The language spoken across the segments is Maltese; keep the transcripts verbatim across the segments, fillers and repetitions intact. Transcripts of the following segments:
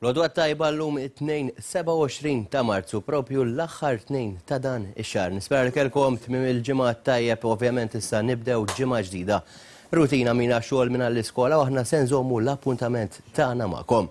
L-għodwa t-tajba llum it-Tnejn sebgħa u għoxrin ta' Marzu, propju l-aħħar tnejn ta' dan ix-xahar. Nispera li kellkom tmiem il-ġimgħa tajjeb, ovvjament issa nibdew ġimgħa ġdida. Rutina mina xogħol minn l-iskola u aħna se nżommu l-appuntament tagħna magħkom.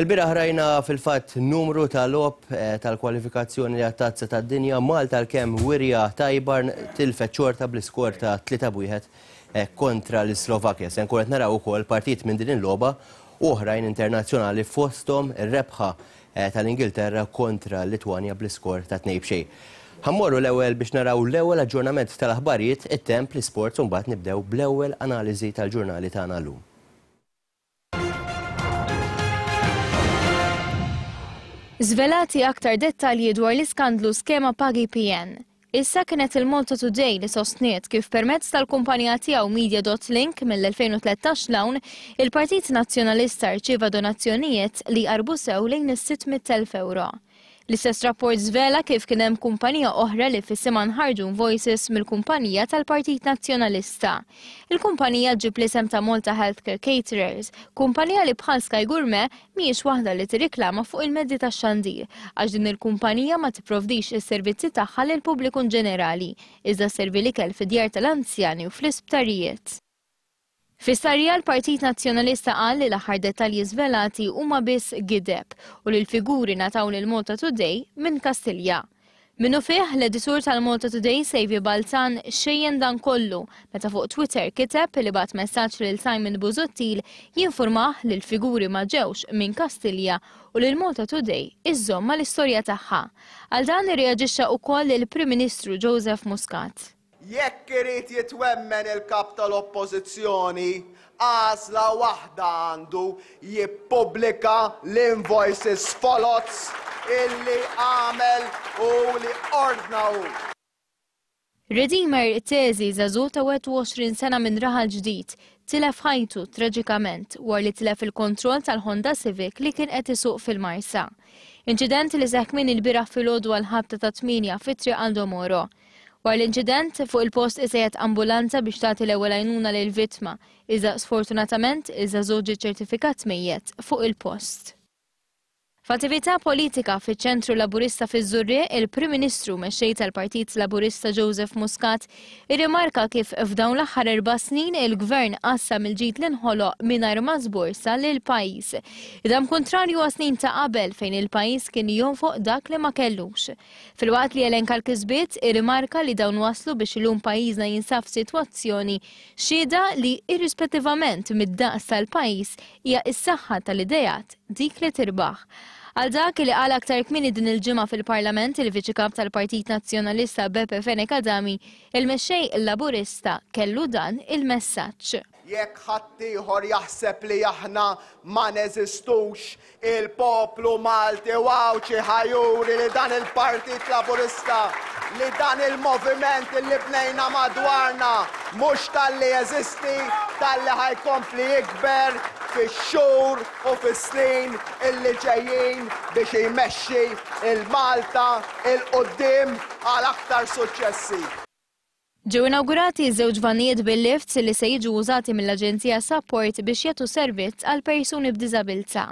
Il-bieraħ rajna fil-fatt numru ta' logħob eh, tal-kwalifikazzjoni li għat-tazza tad-dinja. Malta l-kemm wirja tajba tilfet xorta bl-iskor ta' tlieta b'wieħed eh, kontra l-Slovakkja. Se nkun qed naraw ukoll partit minn din il-logħba u oħrajn internazzjonali fosthom ir-rebħa eh, tal-Ingilterra kontra l-Litwanja bl-iskor ta' tnejn b'xejn. Ħa mmorru l-ewwel biex naraw l-ewwel aġġornament tal-aħbarijiet, it-temp, l-isports u mbagħad nibdew bl-ewwel analiżi tal-ġurnali tagħna llum. Żvelati aktar dettalji dwar l-iskandlu skema Pagi P N. Issa kienet il-Malta Today li sostniet kif permezz tal-kumpanija tiegħu Media dot Link mill-elfejn u tlettax l-hawn, il-Partit Nazzjonalista rċieva donazzjonijiet li qarbu sew lejn is-sitt mitt elf euro. L-istess rapport żvela kif kien hemm kumpanija oħra li f'isimha nħarġu invoices mill-kumpanija tal-Partit Nazzjonalista. Il-kumpanija ġib l-isem ta' Malta Healthcare Caterers, kumpanija li bħal Sky Gourmet mhijiex waħda li tirriklama fuq il-mezzi tax-xandir, għax din il-kumpanija ma tipprovdix is-servizzi tagħha lil pubbliku ġenerali, iżda servi l-ikel fid-djar tal-anzjani u fl-isptarijiet. Fis-sarja l-Partit Nazzjonalista qal li l-aħħar dettalji żvelati huma biss gideb u li l-figuri ngħataw lil Malta Today minn Kastilja. Minnu fih l-editur tal-Malta Today Saviour Balzan xejjen dan kollu meta fuq Twitter kiteb li bagħat messaġġ lil Simon Busuttil jinformah li l-figuri ma ġewx minn Kastilja u li l-Malta Today iżżomm mal-istorja tagħha. Għal dan irreaġixxa wkoll il-Prim Ministru Joseph Muscat. Jekk irid jitwemmen il-kap tal-Oppożizzjoni, għażla waħda għandu jippubblika l-invoices folots illi għamel u li ordna hu. Redeemer Tesi żagħżugħ ta' wieħed u għoxrin sena minn Raħal Ġdid tilef ħajtu traġikament wara li tilef il-kontroll tal-Honda Civic li kien qed isuq fil-Marsa. Inċident li seħħ kmieni l-bieraħ filgħodu għal ħabta ta' tmienja fi Triq Aldo Moro. Wara l-inċident fuq il-post isejjed ambulanza biex tagħti l-ewwel għajnuna lil vittma, iżda sfortunatament iż-żagħżugħ ġie ċertifikat mejjet fuq il-post. F'attività politika fiċ-Ċentru Laburista fiż-Żurrieq, il-Prim Ministru mexxej tal-Partit Laburista Joseph Muscat irrimarka kif f'dawn l-aħħar erba' snin il-Gvern qassam il-ġid li nħoloq mingħajr ma żborsa lil pajjiż. Idam kontrarju għas snin ta' qabel fejn il-pajjiż kien jonfoq dak li ma kellux. Filwaqt li elenka l-kisbiet, irrimarka li dawn waslu biex illum pajjiżna jinsab f'sitwazzjoni xhieda li irrispettivament mid-daqs tal-pajjiż hija s-saħħa tal-idejat dik li tirbaħ. Għal dak li qal aktar kmieni din il-ġimgħa fil-Parlament il-Viċi Kap tal-Partit Nazzjonalista Beppe Fenech Adami, il-mexxej Laburista kellu dan il-messaġġ. Jekk ħaddieħor jaħseb li aħna ma neżistux, il-poplu Malti u Għawdxi ħajuri li dan il-Partit Laburista, li dan il-moviment li bnejna madwarna mhux talli jeżisti, talli ħajkompli jikber fix-xhur u fis-snin illi ġejjin biex jmexxi il-Malta il-qudiem għal aktar suċċessi. Ġew inawgurati żewġ vanijiet bil-lifts li se jiġu użati mill-Aġenzija Sapport biex jagħtu servizz għal persuni b'diżabilità.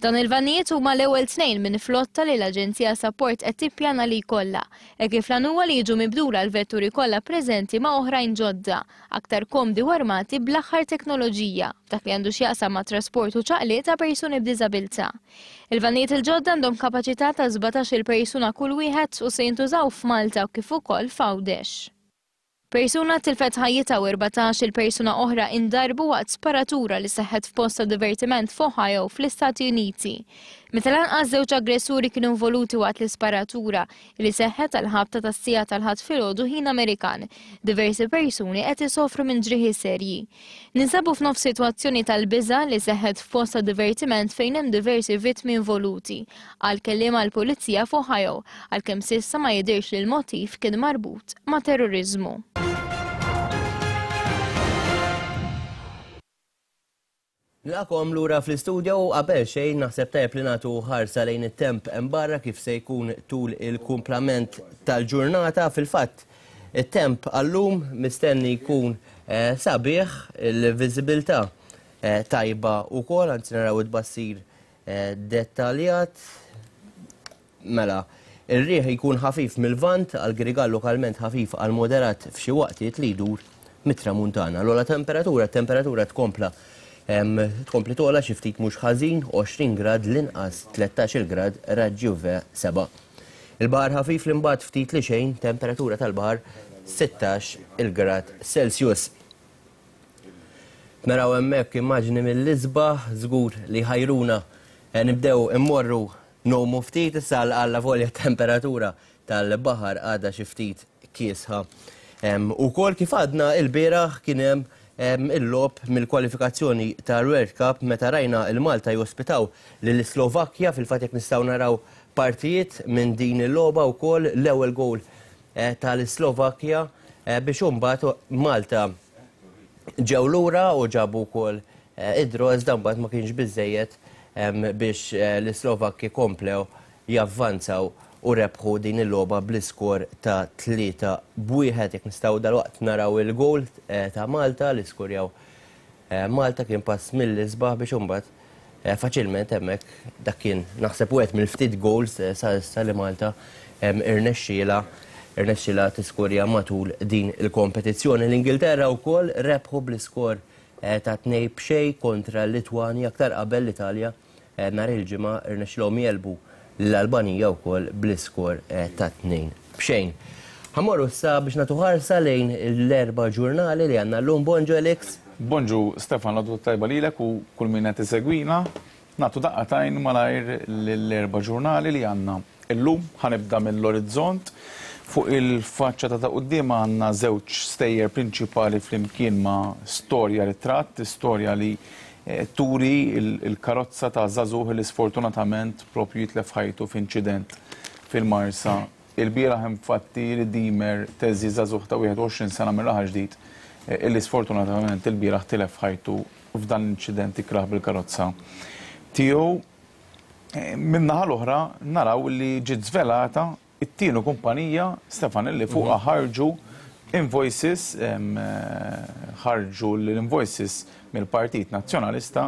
Dan il-vanijiet huma l-ewwel tnejn minn flotta li l-Aġenzija Sapport qed tippjana li jkollha, e kif l-għan huwa li jiġu mibdula l-vetturi kollha preżenti ma' oħrajn ġodda, aktar komdi u armati bl-aħħar teknoloġija, dak li għandu x'jaqsam ma' trasport u ċaqliq ta' persuni b'diżabilità. Il-vanijiet il-ġodda għandhom kapaċità ta' sbatax-il persuna kull wieħed u se jintużaw f'Malta u kif ukoll f'Għawdex. Persuna tilfet ħajjitha u erbatax-il persuna oħra indarbu waqt sparatura li seħħet f'post ta' divertiment f'Ohio fl-Istati Uniti. Meta lanqas żewġ aggressuri kienu involuti waqt l-isparatura li seħħet għal ħabta tas-siegħa tal-Ħadd filgħodu ħin Amerikan. Diversi persuni qed isofru minn ġrieħi serji. Ninsabu f'nofs sitwazzjoni tal-biża' li seħħet f'post ta' divertiment fejn hemm diversi vittmi involuti, għal kelliem għall-Pulizija f'Ohio, għalkemm s'issa ma jidhirx li l-motiv kien marbut ma' terrorizmu. Nilqakom lura fl-istudio u qabel xejn naħseb tajjeb li nagħtu ħarsa lejn it-temp hemm barra kif se jkun tul il-kumplament tal-ġurnata. Fil-fatt, it-temp għallum mistenni jkun, eh, sabiħ, il-viżibilità, eh, tajba wkoll, anzi naraw it-tbassir dettaljat. Mela, ir-riħ jkun ħafif mill-Lvant għal Grigal, lokalment ħafif għal moderat f'xi waqtiet li jdur mit-tramuntana. L-ogħla temperatura, temperatura tkompla tkompli tola xi ftit mhux ħażin, għoxrin grad l-inqas, tlettax-il grad raġġi U V seba'. Il-baħar ħafif l-imbagħad ftit li xejn, temperatura tal-baħar sittax il grad Celsius. Naraw hemmhekk immaġni mill-isbaħ, żgur li ħajruna nibdew immorru nomu ftit issa għalla volja temperatura tal-baħar għadha xi ftit kiesħa. Ukoll kif għadna il-bieraħ kien hemm il-logħob mill-kwalifikazzjoni tal-World Cup meta rajna il-Malta jospitaw lill-Slovakkja. Fil-fatt jekk nistgħu naraw partijiet minn din il-logħba wkoll l-ewwel goal tal-Slovakkja biex imbagħad Malta ġew lura u ġabu wkoll id-draw, iżda mbagħad ma kienx biżejjed biex l-Slovakki komplew javvanzaw u rebħu din il-logħba bl-iskor ta' tlieta b'wieħed. Jekk nistgħu dalwaqt naraw il-goal ta' Malta li skurjaw Malta, kien pass mill-isbaħ biex imbagħad faċilment hemmhekk dak kien naħseb wieħed mill-ftit goals sa issa li Malta irnexxiela irnexxiela tiskurja matul din il-kompetizzjoni. L-Ingilterra wkoll rebħu bl-iskor ta' tnejn b'xejn kontra l-Litwanja. Aktar qabel l-Italja nhar il-ġimgħa irnexxielhom jelbu l-Albanija wkoll bl-iskor ta' tnejn b'xejn. Ħammorru issa biex nagħtu ħarsa lejn l-erba' ġurnali li għandna llum. Bonġu Alex. Bonġu Stefan, l-għodwa tajba lilek u kull min qed isegwina. Nagħtu daqqa tajn malajr l-erba' ġurnali li għandna illum. Ħanibda mill-Orizzont. Fuq il-faċċata ta' quddiem għandna żewġ stejjer prinċipali flimkien ma' storja ritratt, storja li turi il-karozza ta' żagħżugħ li sfortunatament propju jitlef ħajtu f'inċident fil-Marsa. Il-bieraħ infatti Redeemer Teżi, żagħżugħ ta' wieħed u għoxrin sena minn Raħal Ġdid, illi sfortunatament il-bieraħ tilef ħajtu f'dan l-inċident ikrah bil-karozza tiegħu. Min-naħa l-oħra naraw li ġiet żvelata it-tieni kumpanija, Stefan, illi fuqha ħarġu invoices, ħarġu l-invoices mill-Partit Nazzjonalista,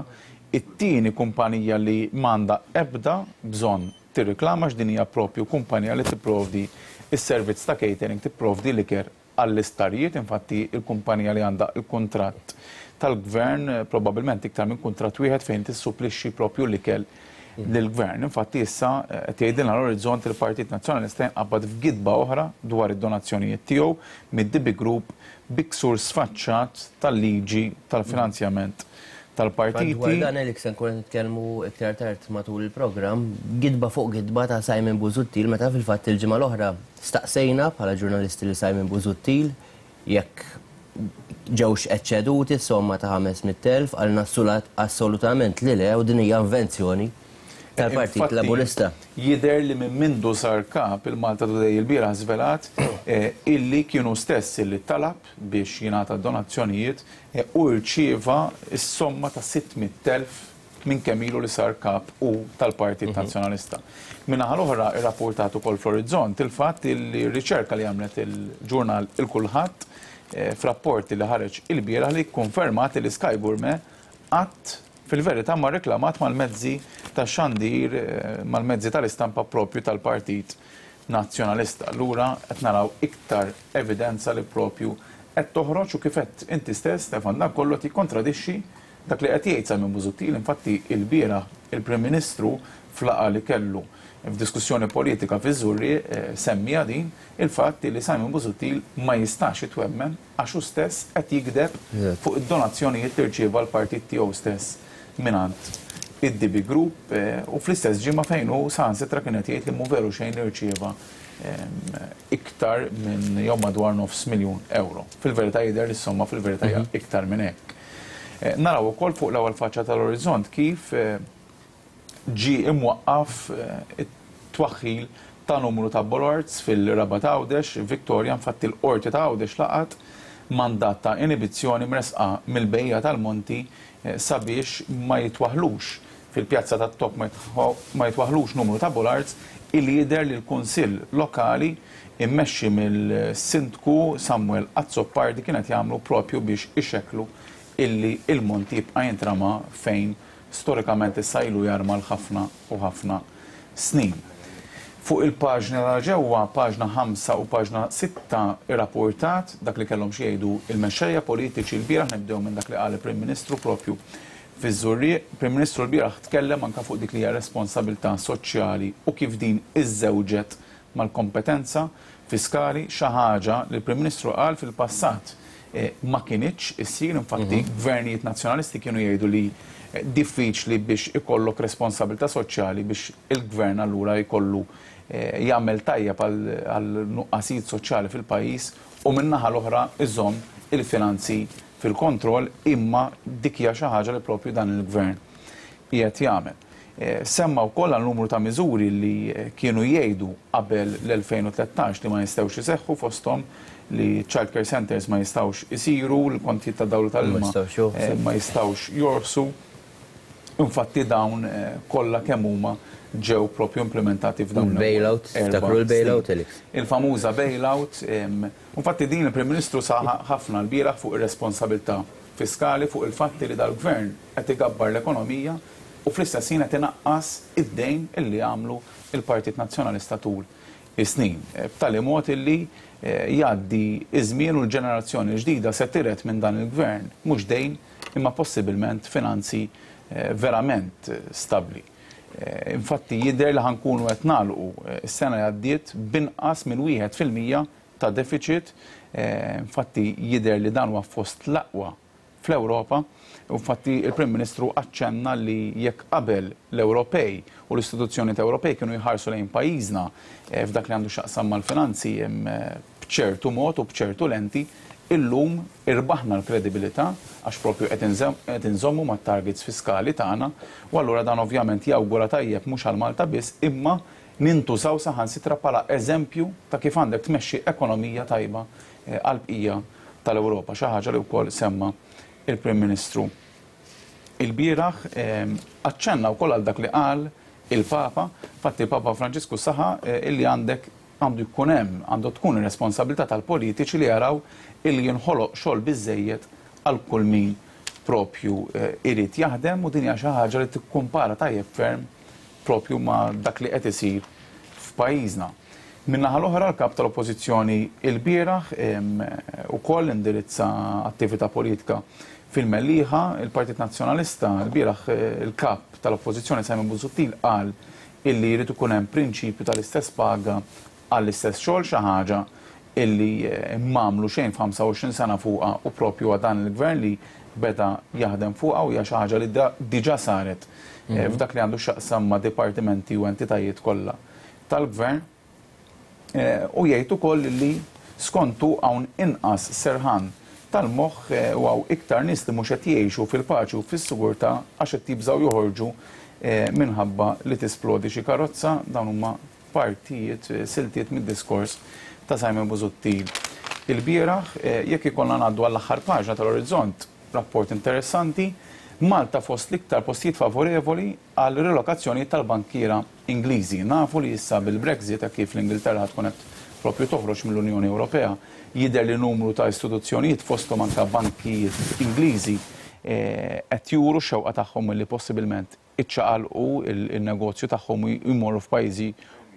it-tieni kumpanija li m'għandha ebda bżonn tirriklama, x'din hija propju kumpanija li tipprovdi s-servizz ta' catering, tipprovdi l-iker għall-istarijiet. Infatti il-kumpanija li għandha il-kuntratt tal-gvern, probabbilment iktar minn kuntratt wieħed fejn tissupplixxi propju l-ikel lill-gvern. Infatti issa qed jgħidilna l-Orizzont il-Partit Nazzjonalista jinqabad f'gidba oħra dwar id-donazzjonijiet tiegħu mid-D B Group bi ksur sfaċċat tal-liġi tal-finanzjament tal-partiti. Dwar dan Alex se nkunu nitkellmu iktar tard matul il-programm, gidba fuq gidba ta' Simon Busuttil, meta fil-fatt il-ġimgħa l-oħra staqsejna bħala ġurnalisti li Simon Busuttil jekk ġewx eċċeduti s-somma ta' ħames mitt elf, għalna assolutament li le, u din hija invenzjoni tal-Partit Infatti, Laburista. Jidher li minn mindu sar kap il-Malta Today il-bieraħ żvelat, eh, illi kienu stess illi talab biex jingħata donazzjonijiet, eh, u rċieva s-somma ta' sitt mitt elf minn kemm ilu li sar kap u tal-Partit Mhm. Nazzjonalista. Min-naħa l-oħra irrapportat ukoll fl-Orizzont il-fatt li r-riċerka li għamlet il-ġurnal Il-Kulħadd, eh, f'rapporti li ħareġ il-bieraħ li kkonfermat li Sky Gourmet qatt fil-verità ma reklamat mal-mezzi ta' xandir, eh, mal-mezzi tal-istampa propju tal-Partit Nazzjonalista. Allura qed naraw iktar evidenza li propju qed toħroġ u kif qed inti stess, Stefan, dan kollu qed jikkontradixxi dak li qed jgħid Simon Busuttil. Infatti il-bieraħ il-Prim Ministru flaqa li kellu f'diskussjoni politika fiż-Żurrieq, eh, semmija din il-fatt li Simon Busuttil ma jistax jitwemmen għax hu stess qed jikdeb Eżatt. fuq id-donazzjonijiet li rċieva l-partit tiegħu stess mingħand id-D B Group, eh, u fl-istess ġimgħa fejn hu saħansitra kien qed jgħid li mhu veru xejn li rċieva, ehm, iktar minn jew madwar nofs miljun euro. Fil-verità jidher li s-somma fil-verità hija Mhm. iktar minn hekk. Eh, naraw ukoll fuq l-ewwel faċċa tal-Orizzont kif, eh, ġie imwaqqaf, eh, it-twaħħil ta' numru ta' bollards fil-Rabat Għawdex, Victoria. Infatti l-Qorti ta' Għawdex laqat mandat ta' inibizzjoni mresqa mill-bejja tal-Monti, eh, sabiex ma jitwaħlux fil-pjazza tat-Top, ma jitħo-, ma jitwaħlux numru ta' bollards illi jidher li l-Kunsill Lokali immexxi mill-Sindku Samuel Azzopardi kienet jagħmlu propju biex ixekklu illi il-Monti jibqa' jintrama fejn storikament issa ilu jarma l-ħafna u ħafna snin. Fuq il-paġna ta' ġewwa, paġna ħamsa u paġna sitta, irrapportat dak li kellhom xi jgħidu il-mexxejja politiċi l-bieraħ. Nibdew minn dak li qal il-Prim Ministru propju fiż-Żurrieq. Prim Ministru l-bieraħ tkellem anke fuq dik li hija responsabilità soċjali u kif din iżżewġet mal-kompetenza fiskali, xi ħaġa li l-Prim Ministru qal fil-passat ma kinitx issir. Infatti gvernijiet nazzjonalisti kienu jgħidu li diffiċli biex ikollok responsabilità soċjali, biex il-gvern allura jkollu jagħmel tajjeb għal nuqqasijiet soċjali fil-pajjiż u min-naħa l-oħra iżomm il-finanzi fil-kontroll, imma dik hija xi ħaġa li propju dan il-gvern qiegħed jagħmel. Semma wkoll għal numru ta' miżuri li kienu jgħidu qabel l-elfejn u tlettax li ma jistgħux iseħħu, fosthom li child care centers ma jistgħux isiru, l-kontijiet ta' dawl tal-ilma ma jistgħux jorsu. Infatti dawn kollha kemm huma ġew propju implementati f'dawn il-bailout, tiftakru l-bailout, Alex? Il-famuża bailout. Infatti din il-Prim Ministru saħaq ħafna l-bieraħ fuq ir-responsabilità fiskali, fuq il-fatti li dal-gvern qed igabbar l-ekonomija u fl-istess ħin qed inaqqas id-dejn illi għamlu il-Partit Nazzjonalista tul is-snin. B'tali mod illi jgħaddi iż-żmien u l-ġenerazzjoni ġdida se tiret minn dan il-gvern mhux dejn imma possibilment finanzi verament stabbli. Infatti jidher li ħankunu qed nagħlqu s-sena li għaddiet binqas minn wieħed fil-mija ta' deficit. Infatti jidher li dan huwa fost l-aqwa fl-Ewropa. Infatti il-Prim Ministru aċċenna li jekk qabel l-Ewropej u l-istituzzjonijiet Ewropej kienu jħarsu lejn pajjiżna f'dak li għandu x'jaqsam mal-finanzi b'ċertu mod u b'ċertu lenti, illum irbaħna l-kredibilità għax propju qed inżommu mat-targets fiskali tagħna, u allura dan ovvjament jawgura tajjeb mhux għal Malta biss, imma nintużaw saħansitra bħala eżempju ta' kif għandek tmexxi ekonomija tajba għall-bqija tal-Ewropa, xi ħaġa li wkoll semma il-Prim Ministru il-bieraħ. Aċċenna wkoll għal dak li qal il-Papa. Infatti il-Papa Franġisku saħa illi għandek għandu jkun hemm, għandu tkun ir-responsabilità tal-politiċi li jaraw illi jinħoloq xogħol biżejjed għal kull min propju irid jaħdem, u din hija xi ħaġa li tikkumpara tajjeb ferm propju ma' dak li qed isir f'pajjiżna. Min-naħa l-oħra l-kap tal-Oppożizzjoni il-bieraħ ukoll indirizza attività politika fil-Mellieħa. Il-Partit Nazzjonalista l-bieraħ il-kap tal-Oppożizzjoni Simon Busuttil qal illi jrid ikun hemm prinċipju tal-istess paga għall-istess xogħol, xi ħaġa illi m'għamlu xejn f'ħamsa u għoxrin sena fuqha, u propju għal dan il-gvern li beda jaħdem fuqha, u hija xi ħaġa li diġà saret f'dak li għandu x'jaqsam ma' dipartimenti u entitajiet kollha tal-gvern. U jgħid ukoll li skontu hawn inqas serħan tal-moħħ u hawn iktar nies li mhux qed jgħixu fil-paċi u fis-sigurtà għax qed jibżgħu joħorġu minħabba li tisplodi xi karozza. Dawn huma partijiet, siltiet mid-diskors ta' Simon Busuttil il-bieraħ. Jekk ikollna ngħaddu għall-aħħar paġna tal-Orizzont, rapport interessanti, Malta fost l-iktar postijiet favorevoli għal relokazzjoni tal-bankiera Ingliżi. Nafu li issa bil-Brexit, kif l-Ingilterra tkun qed propju toħroġ mill-Unjoni Ewropea, jidher li numru ta' istituzzjonijiet fosthom anke bankijiet Ingliżi qed juru x-xewqa tagħhom li possibilment iċċaqalqu il-negozju tagħhom u jmorru f'pajjiżi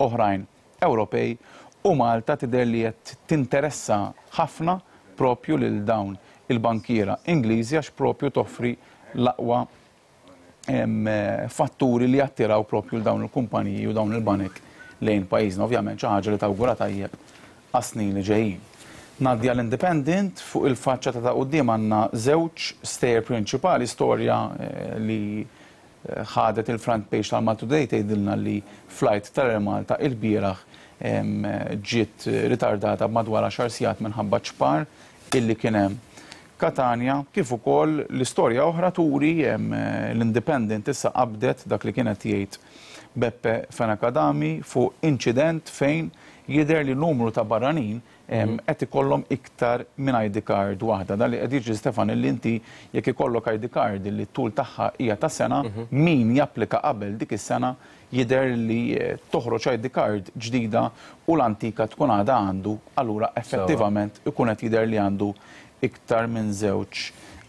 oħrajn Ewropej, u Malta tidher li qed tinteressa ħafna propju lil dawn il-bankiera Ingliżi għax propju toffri l-aqwa fatturi li jattiraw propju l dawn il-kumpaniji u dawn il-banek lejn pajjiżna. Ovvjament xi ħaġa li tawgura tajjeb għas-snin li ġejjin. Ngħaddi għall-Independent. Fuq il-faċċata ta' quddiem għandna żewġ stejjer prinċipali, storja li ħadet il-front page tal-Malta Today tgħidilna li flight tal-Air Malta il-bieraħ ġiet ritardata b'madwar għaxar sigħat minħabba ċpar illi kien hemm Katanja, kif ukoll l-istorja oħra turi l-Independent issa qabdet dak li kienet jgħid Beppe Fenech Adami fuq inċident fejn jidher li numru ta' barranin qed ikollhom iktar minn I D card waħda. Dan li qed jiġri, Stefan, illi inti jekk ikollok I D card li t-tul tagħha hija ta' sena, min japplika qabel dik is-sena jidher li toħroġ I D card ġdida u l-antika tkun għadha għandu, allura effettivament ikun qed jidher li għandu iktar minn żewġ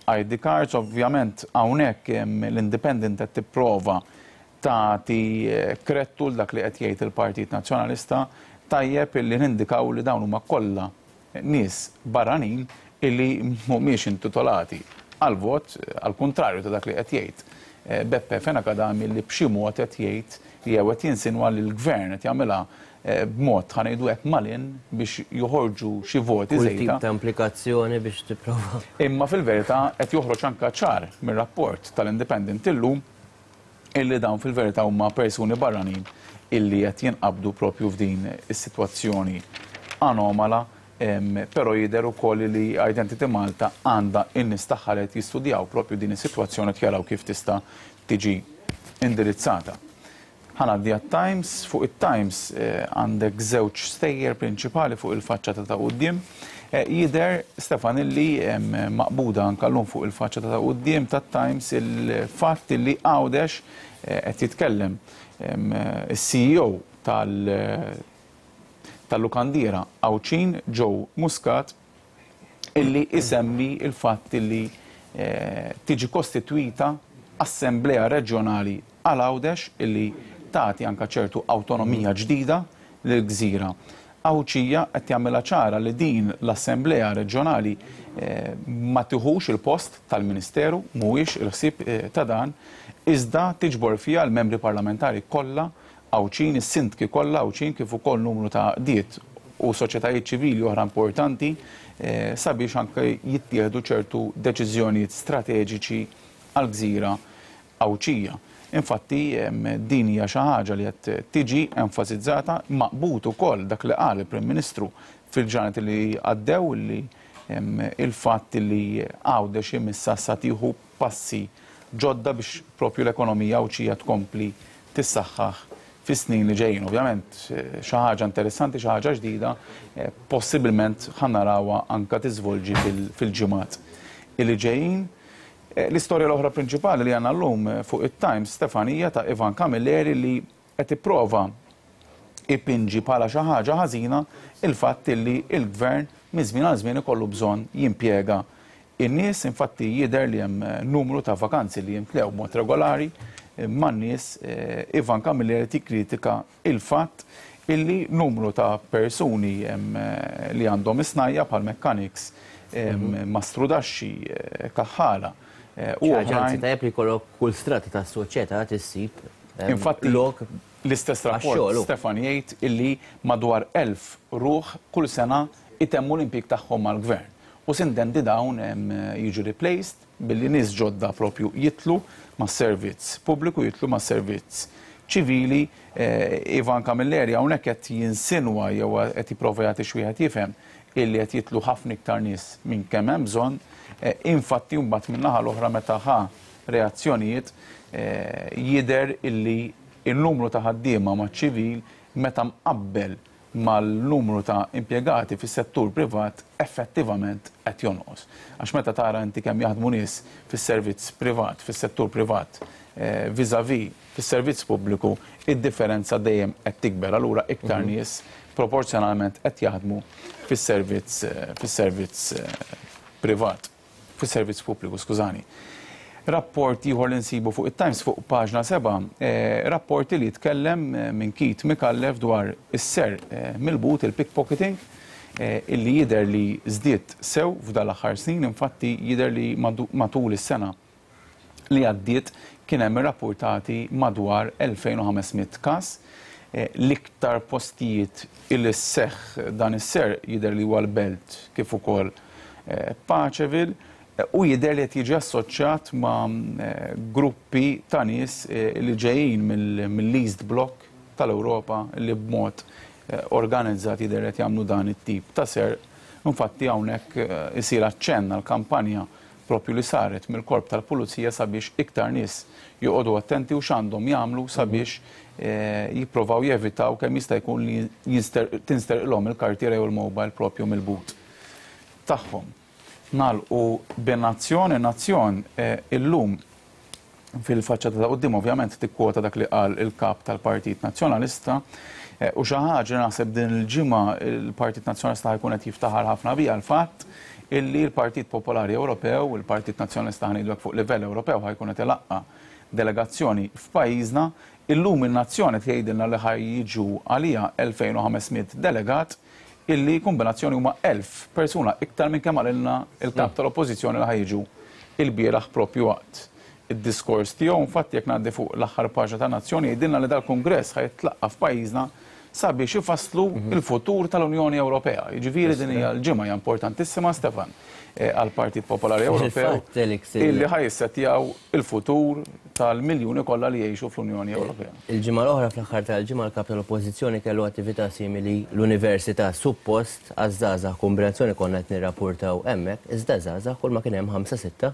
I D cards. Ovvjament hawnhekk l-Independent qed tipprova tagħti krettu l dak li qed jgħid il-Partit Nazzjonalista. Tajjeb illi nindikaw li dawn huma kollha nies barranin illi mhumiex intitolati għal vot, għal kontrarju ta' dak li qed jgħid Beppe Fenech Adami, li b'xi mod qed jgħid jew qed jinsinwa li l-gvern qed jagħmilha b'mod ħa ngħidu hekk malin biex joħorġu xi voti Kull żejda. tip ta' implikazzjoni biex tipprova. Imma fil-verità qed joħroġ anke ċar mir-rapport tal-Independent illum illi dawn fil-verità huma persuni barranin illi qed jinqabdu propju f'din is-sitwazzjoni anomala, però jidher ukoll li Identity Malta għandha in-nies tagħha li qed jistudjaw propju din is-sitwazzjoni qed jaraw kif tista' tiġi indirizzata. Ħa ngħaddi għat-Times. Fuq it-Times għandek żewġ stejjer prinċipali fuq il-faċċata ta' quddiem. Jidher, Stefan, illi maqbuda anke llum fuq il-faċċata ta' quddiem tat-Times il-fatt illi Għawdex qed jitkellem is-C E O tal- tal-lukandiera Għawdxin Joe Muscat, illi isemmi il-fatt illi tiġi kostitwita assemblea reġjonali għal Għawdex illi tagħti anke ċertu awtonomija ġdida lill-gżira Għawdxija. Qed jagħmilha ċara li din l-assemblea reġjonali ma tiħux il-post tal-Ministeru, mhuwiex il-ħsieb ta' dan, iżda tiġbor fiha l-membri parlamentari kollha Għawdxin, is-sindki kollha Għawdxin, kif ukoll numru ta' għaqdiet u soċjetajiet ċivili oħra importanti sabiex anke jittieħdu ċertu deċiżjonijiet strateġiċi għall-gżira Għawdxija. Infatti, din hija xi ħaġa li qed tiġi enfasizzata, maqbut ukoll dak li qal il-Prim Ministru fil-ġranet li għaddew, li il-fatt li Għawdex imissa sa tieħu passi ġodda biex propju l-ekonomija Għawdxija tkompli tissaħħaħ fis-snin li ġejjin. Ovvjament, xi ħaġa interessanti, xi ħaġa ġdida, possibilment ħa narawha anke tiżvolġi fil-ġimgħat li ġejjin. L-istorja l-oħra prinċipali li għandna llum fuq it-Times, Stefanija, ta' Ivan Camilleri li qed ipprova ipinġi bħala xi ħaġa ħażina il-fatt li l-gvern minn żmien għal żmien ikollu bżonn jimpjega in-nies. Infatti jidher li hemm numru ta' vakanzi li jimtlew b'mod regolari man-nies. Ivan Camilleri tikkritika il-fatt illi numru ta' persuni li għandhom isnajja bħal mechanics, mastrudaxxi, kaħħala, u Ċaġa, oħrajn. anzi, tajjeb li jkollok kull strata ta' soċjetà tissib, em, Infatti, lok l-istess rapport, għax-xogħol, u. Stefan, jgħid illi madwar elf ruħ kull sena itemmu l-impjieg tagħhom mal-gvern. U sintendi dawn, em, jiġu replaced billi nies ġodda propju jitlu ma' servizz pubbliku, jitlu ma' servizz ċivili. Eh, Ivan Camilleri hawnhekk qed jinsinwa jew qed jipprova jagħti xi wieħed jifhem illi qed jitlu ħafna iktar nies minn kemm hemm bżonn. Eh, infatti mbagħad min-naħa l-oħra meta ħa reazzjonijiet, eh, jidher illi il-numru ta' ħaddiema ma' ċivil meta mqabbel mal-numru ta' impjegati fis-settur privat effettivament qed jonqos. Għax meta tara inti kemm jaħdmu nies fis-servizz privat, fis-settur privat, eh, vis-à-vis fis-servizz pubbliku, id-differenza dejjem qed tikber. Allura iktar Mhm. nies proporzjonalment qed jaħdmu fis-servizz, eh, fis-servizz, eh, privat, fis-servizz pubbliku, skużani. Rapport ieħor li nsibu fuq it-Times fuq paġna seba', eh, rapport li jitkellem, eh, minn Keith Micallef dwar is-ser, eh, mill-but, il-pickpocketing, eh, illi jidher li żdied sew f'dan l-aħħar snin. Infatti jidher li madu-, matul is-sena li għaddiet kien hemm irrappurtati madwar elfejn u ħames mitt każ. Eh, l-iktar postijiet illi seħħ dan is-ser jidher li huwa l-Belt kif ukoll, eh, Paceville, u jidher li qed jiġi assoċjat ma', eh, gruppi ta' nies, eh, li ġejjin mill-, mill-East Bloc tal-Ewropa li b'mod, eh, organizzat jidher li qed jagħmlu dan it-tip ta' ser. Infatti hawnhekk, eh, isir aċċenn għal kampanja propju li saret mill-korp tal-Pulizija sabiex iktar nies joqogħdu attenti u x'għandhom jagħmlu sabiex, eh, jipprovaw jevitaw kemm jista' jkun li jinster-, tinsterqilhom il-kartiera jew il-mobile propju mill-but tagħhom. Nagħlqu bin-Nazzjon, in-Nazzjon, eh, illum fil-faċċata ta' quddiem ovvjament tikkwota dak li qal il-kap tal-Partit Nazzjonalista, eh, u xi ħaġa naħseb din il-ġimgħa il-Partit Nazzjonalista ħajkun qed jiftaħar ħafna biha l-fatt illi l-Partit Popolari Ewropew, il-Partit Nazzjonalista ħa ngħidu fuq livell Ewropew ħa jkun qed ilaqqa' delegazzjoni f'pajjiżna. Illum in-Nazzjoni tgħidilna li ħaj jiġu għalija elfejn u ħames mitt delegat, illi kombinazzjoni huma elf persuna iktar minn kemm qalilna il-kap tal-Oppożizzjoni li ħajġu il-bieraħ propju waqt id-diskors tiegħu. Infatti jekk ngħaddi fuq l-aħħar paġna ta' Nazzjoni jgħidilna li dal-Kungress ħajtlaqqa f'pajjiżna sabiex ifasslu il-futur tal-Unjoni Ewropea. Jiġifieri din hija l-ġimgħa hija importantissima, Stefan, għall-Partit Popolari Ewropew illi ħajissettjaw il-futur tal-miljuni kollha li jgħixu fl-Unjoni Ewropea. Il-ġimgħa l-oħra fl-aħħar tal-ġimgħa l-kap tal-Oppożizzjoni kellu attività simili l-Università suppost għaż-żgħażagħ, kombinazzjoni konna qed nirrapportaw hemmhekk, iżda żgħażagħ kull ma kien hemm ħamsa sitta.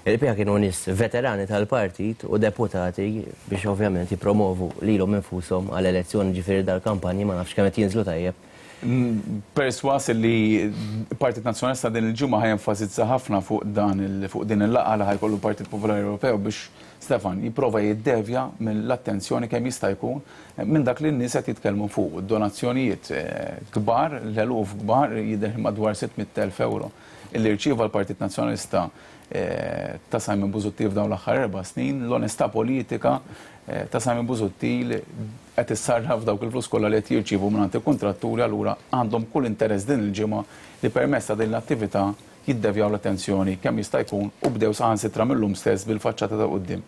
Il-pija kienu nies veterani tal-partit u deputati biex ovvjament jippromovu lilhom infushom għal elezzjoni, ġifieri dal-kampanji ma nafx kemm qed jinżlu tajjeb. Perswas li Partit Nazzjonalista din il-ġimgħa ħajenfasizza ħafna fuq dan fuq din il-laqgħa li ħajkollu Partit Popolari Ewropew biex Stefan jipprova jiddevja mill-attenzjoni kemm jista' jkun minn dak li n-nies qed jitkellmu fuq donazzjonijiet kbar, l-eluf kbar, jidher madwar sitt mitt elf euro illi rċieva l-Partit Nazzjonalista ta' Simon Busuttil f'dawn l-aħħar erba' snin. L-onestà politika ta' Simon Busuttil qed issarraf dawk il-flus kollha li qed jirċievu mingħand il-kuntratturi, allura għandhom kull interess din il-ġimgħa li permezz ta' din l-attività jiddevjaw l-attenzjoni kemm jista' jkun u bdew saħansitra mill-lum stess bil-faċċata ta' quddiem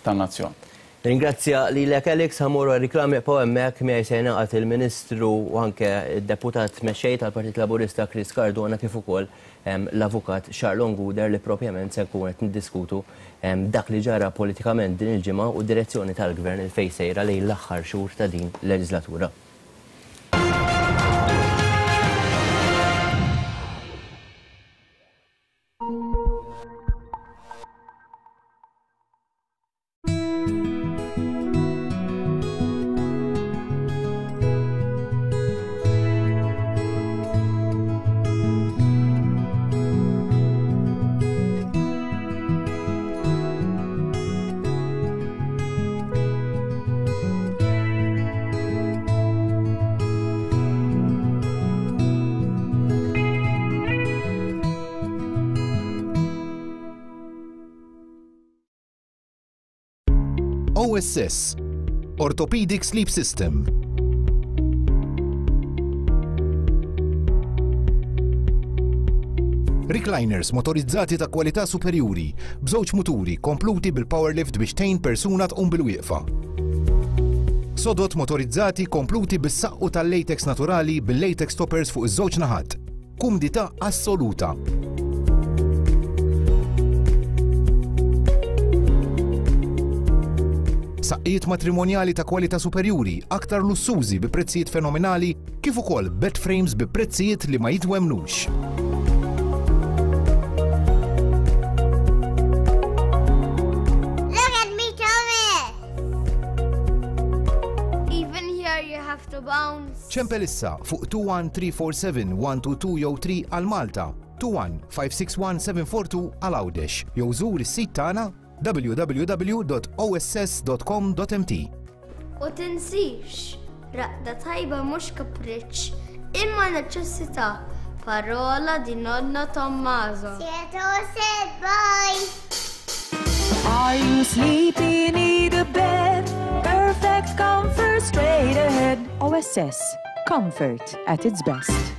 tan-nazzjon. Ringrazzja lilek Alex, ħamur riklami po hemmhekk miegħi se jingħaqad il-Ministru u anke d-Deputat Mexxej tal-Partit Laburista Chris Cardona kif ukoll l-Avukat Charlon Gouder li propjament se nkun qed niddiskutu dak li ġara politikament din il-ġimgħa u d-direzzjoni tal-Gvern il fejn sejra lejn l-aħħar xhur ta' din l-leġislatura. O S S, Orthopedic Sleep System. Recliners motorizzati ta' kwalità superjuri, b'żewġ muturi kompluti bil-power lift biex tgħin persuna tqum bil-wieqfa. Sodot motorizzati kompluti bis-saqqu tal-latex naturali bil-latex toppers fuq iż-żewġ naħat. Kumdità assoluta. Saqqijiet matrimonjali ta' kwalità superjuri, aktar lussużi bi prezzijiet fenomenali, kif ukoll bed frames bi prezzijiet li ma jitwemnux. Look at me, Thomas! Even here you have to bounce. Ċempel issa fuq two one three four seven one two two jew three għal Malta, two one five six one seven four two għal Għawdex, jew żur is-sit tagħna w w w dot o s s dot com dot m t. U tinsix, raqda tajba mhux kapriċċ, imma neċessità. Parola di nonno Tommaso. Sieto said bye. Are you sleepy? Need a bed? Perfect comfort straight ahead. O S S, comfort at its best.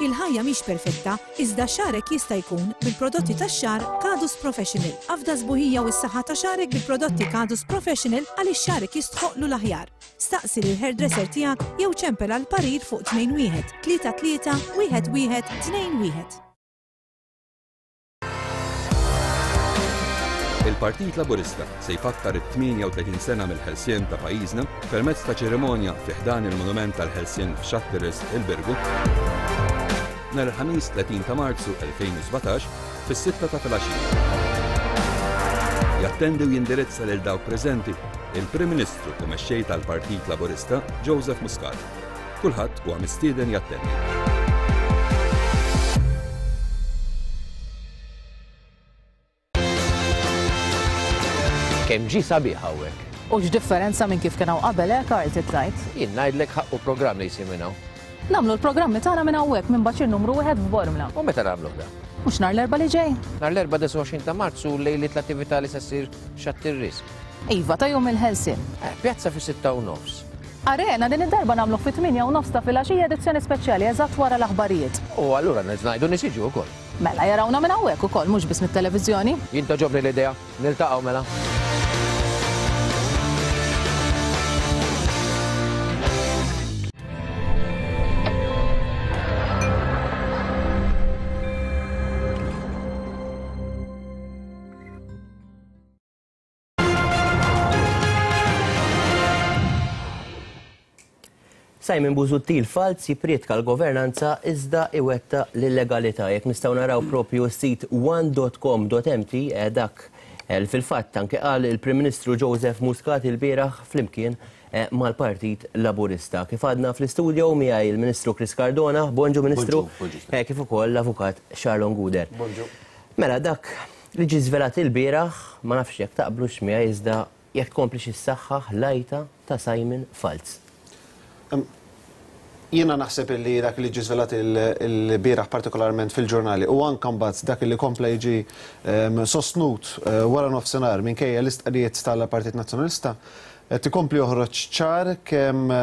Il-ħajja mhix perfetta, iżda xarek jista' jkun bil-prodotti tax-xar Kadus Professional. Afda sbuħija u s-saħħa ta' xarek bil-prodotti Kadus Professional għaliex xarek jistħoqlu l-aħjar. Staqsi lil hairdresser tiegħek jew ċempel għal parir fuq tnejn wieħed tlieta tlieta wieħed wieħed tnejn wieħed. Il-Partit Laburista se jfakkar it-tmienja u tletin sena mill-ħelsien ta' pajjiżna permezz ta' ċerimonja fi ħdan il-Monument tal-Ħelsien f'Xatteris il-Birgu nhar il-Ħamis tletin ta' Marzu elfejn u sbatax fis-sitta ta' filgħaxija. Jattendi u jindirizza lil dawk preżenti il-Prim Ministru u mexxej tal-Partit Laburista Joseph Muscat. Kulħadd huwa mistieden jattendi. Kemm ġi sabiħ hawnhekk. U x'differenza minn kif kien hawn qabel, eh, Karl, trid tgħid? Jien ngħidlek ħaqqu programm li jsir minn hawn. Nagħmlu l-programmi tagħna minn hawnhekk minn baċir numru wieħed f'Bormla. U meta nagħmluh da? Mhux nhar l-Erbgħa li ġej. Nhar l-Erbgħa disgħa u għoxrin ta' Marzu lejliet l-attività li se ssir Xatt ir-Risq. Iva, ta' jum il-Ħelsien. Eh, pjazza fis-sitta u nofs. Arena din id-darba nagħmluh fit-tmienja u nofs ta' filgħaxija edizzjoni speċjali eżatt wara l-aħbarijiet. U allura ngħidu nies jiġu wkoll. Mela jarawna minn hawnhekk ukoll mhux biss mit-televiżjoni. Jien togħġobni l-idea, niltaqgħu mela. Simon Busuttil falz jipprietka l-governanza iżda iwetta l-illegalità. Jekk nistgħu naraw propju s-sit one dot com dot m t, dak fil-fatt anke qal il-Prim Ministru Joseph Muscat il-bieraħ flimkien mal-Partit Laburista. Kif għadna fl-istudio miegħi il-Ministru Chris Cardona, bonġu Ministru, kif ukoll l-Avukat Charlon Gouder. Bonġu. Mela dak li ġie żvelat il-bieraħ, ma nafx jekk taqblux miegħi iżda jekk tkomplix issaħħaħ l-għajta ta' Simon Falz. Jiena naħseb li dak li ġie żvelat il-bieraħ partikolarment fil-ġurnali u anke mbagħad dak li kompla jiġi sostnut wara nofsinhar minkejja l-istqarrijiet tal-Partit Nazzjonalista qed ikompli joħroġ ċar kemm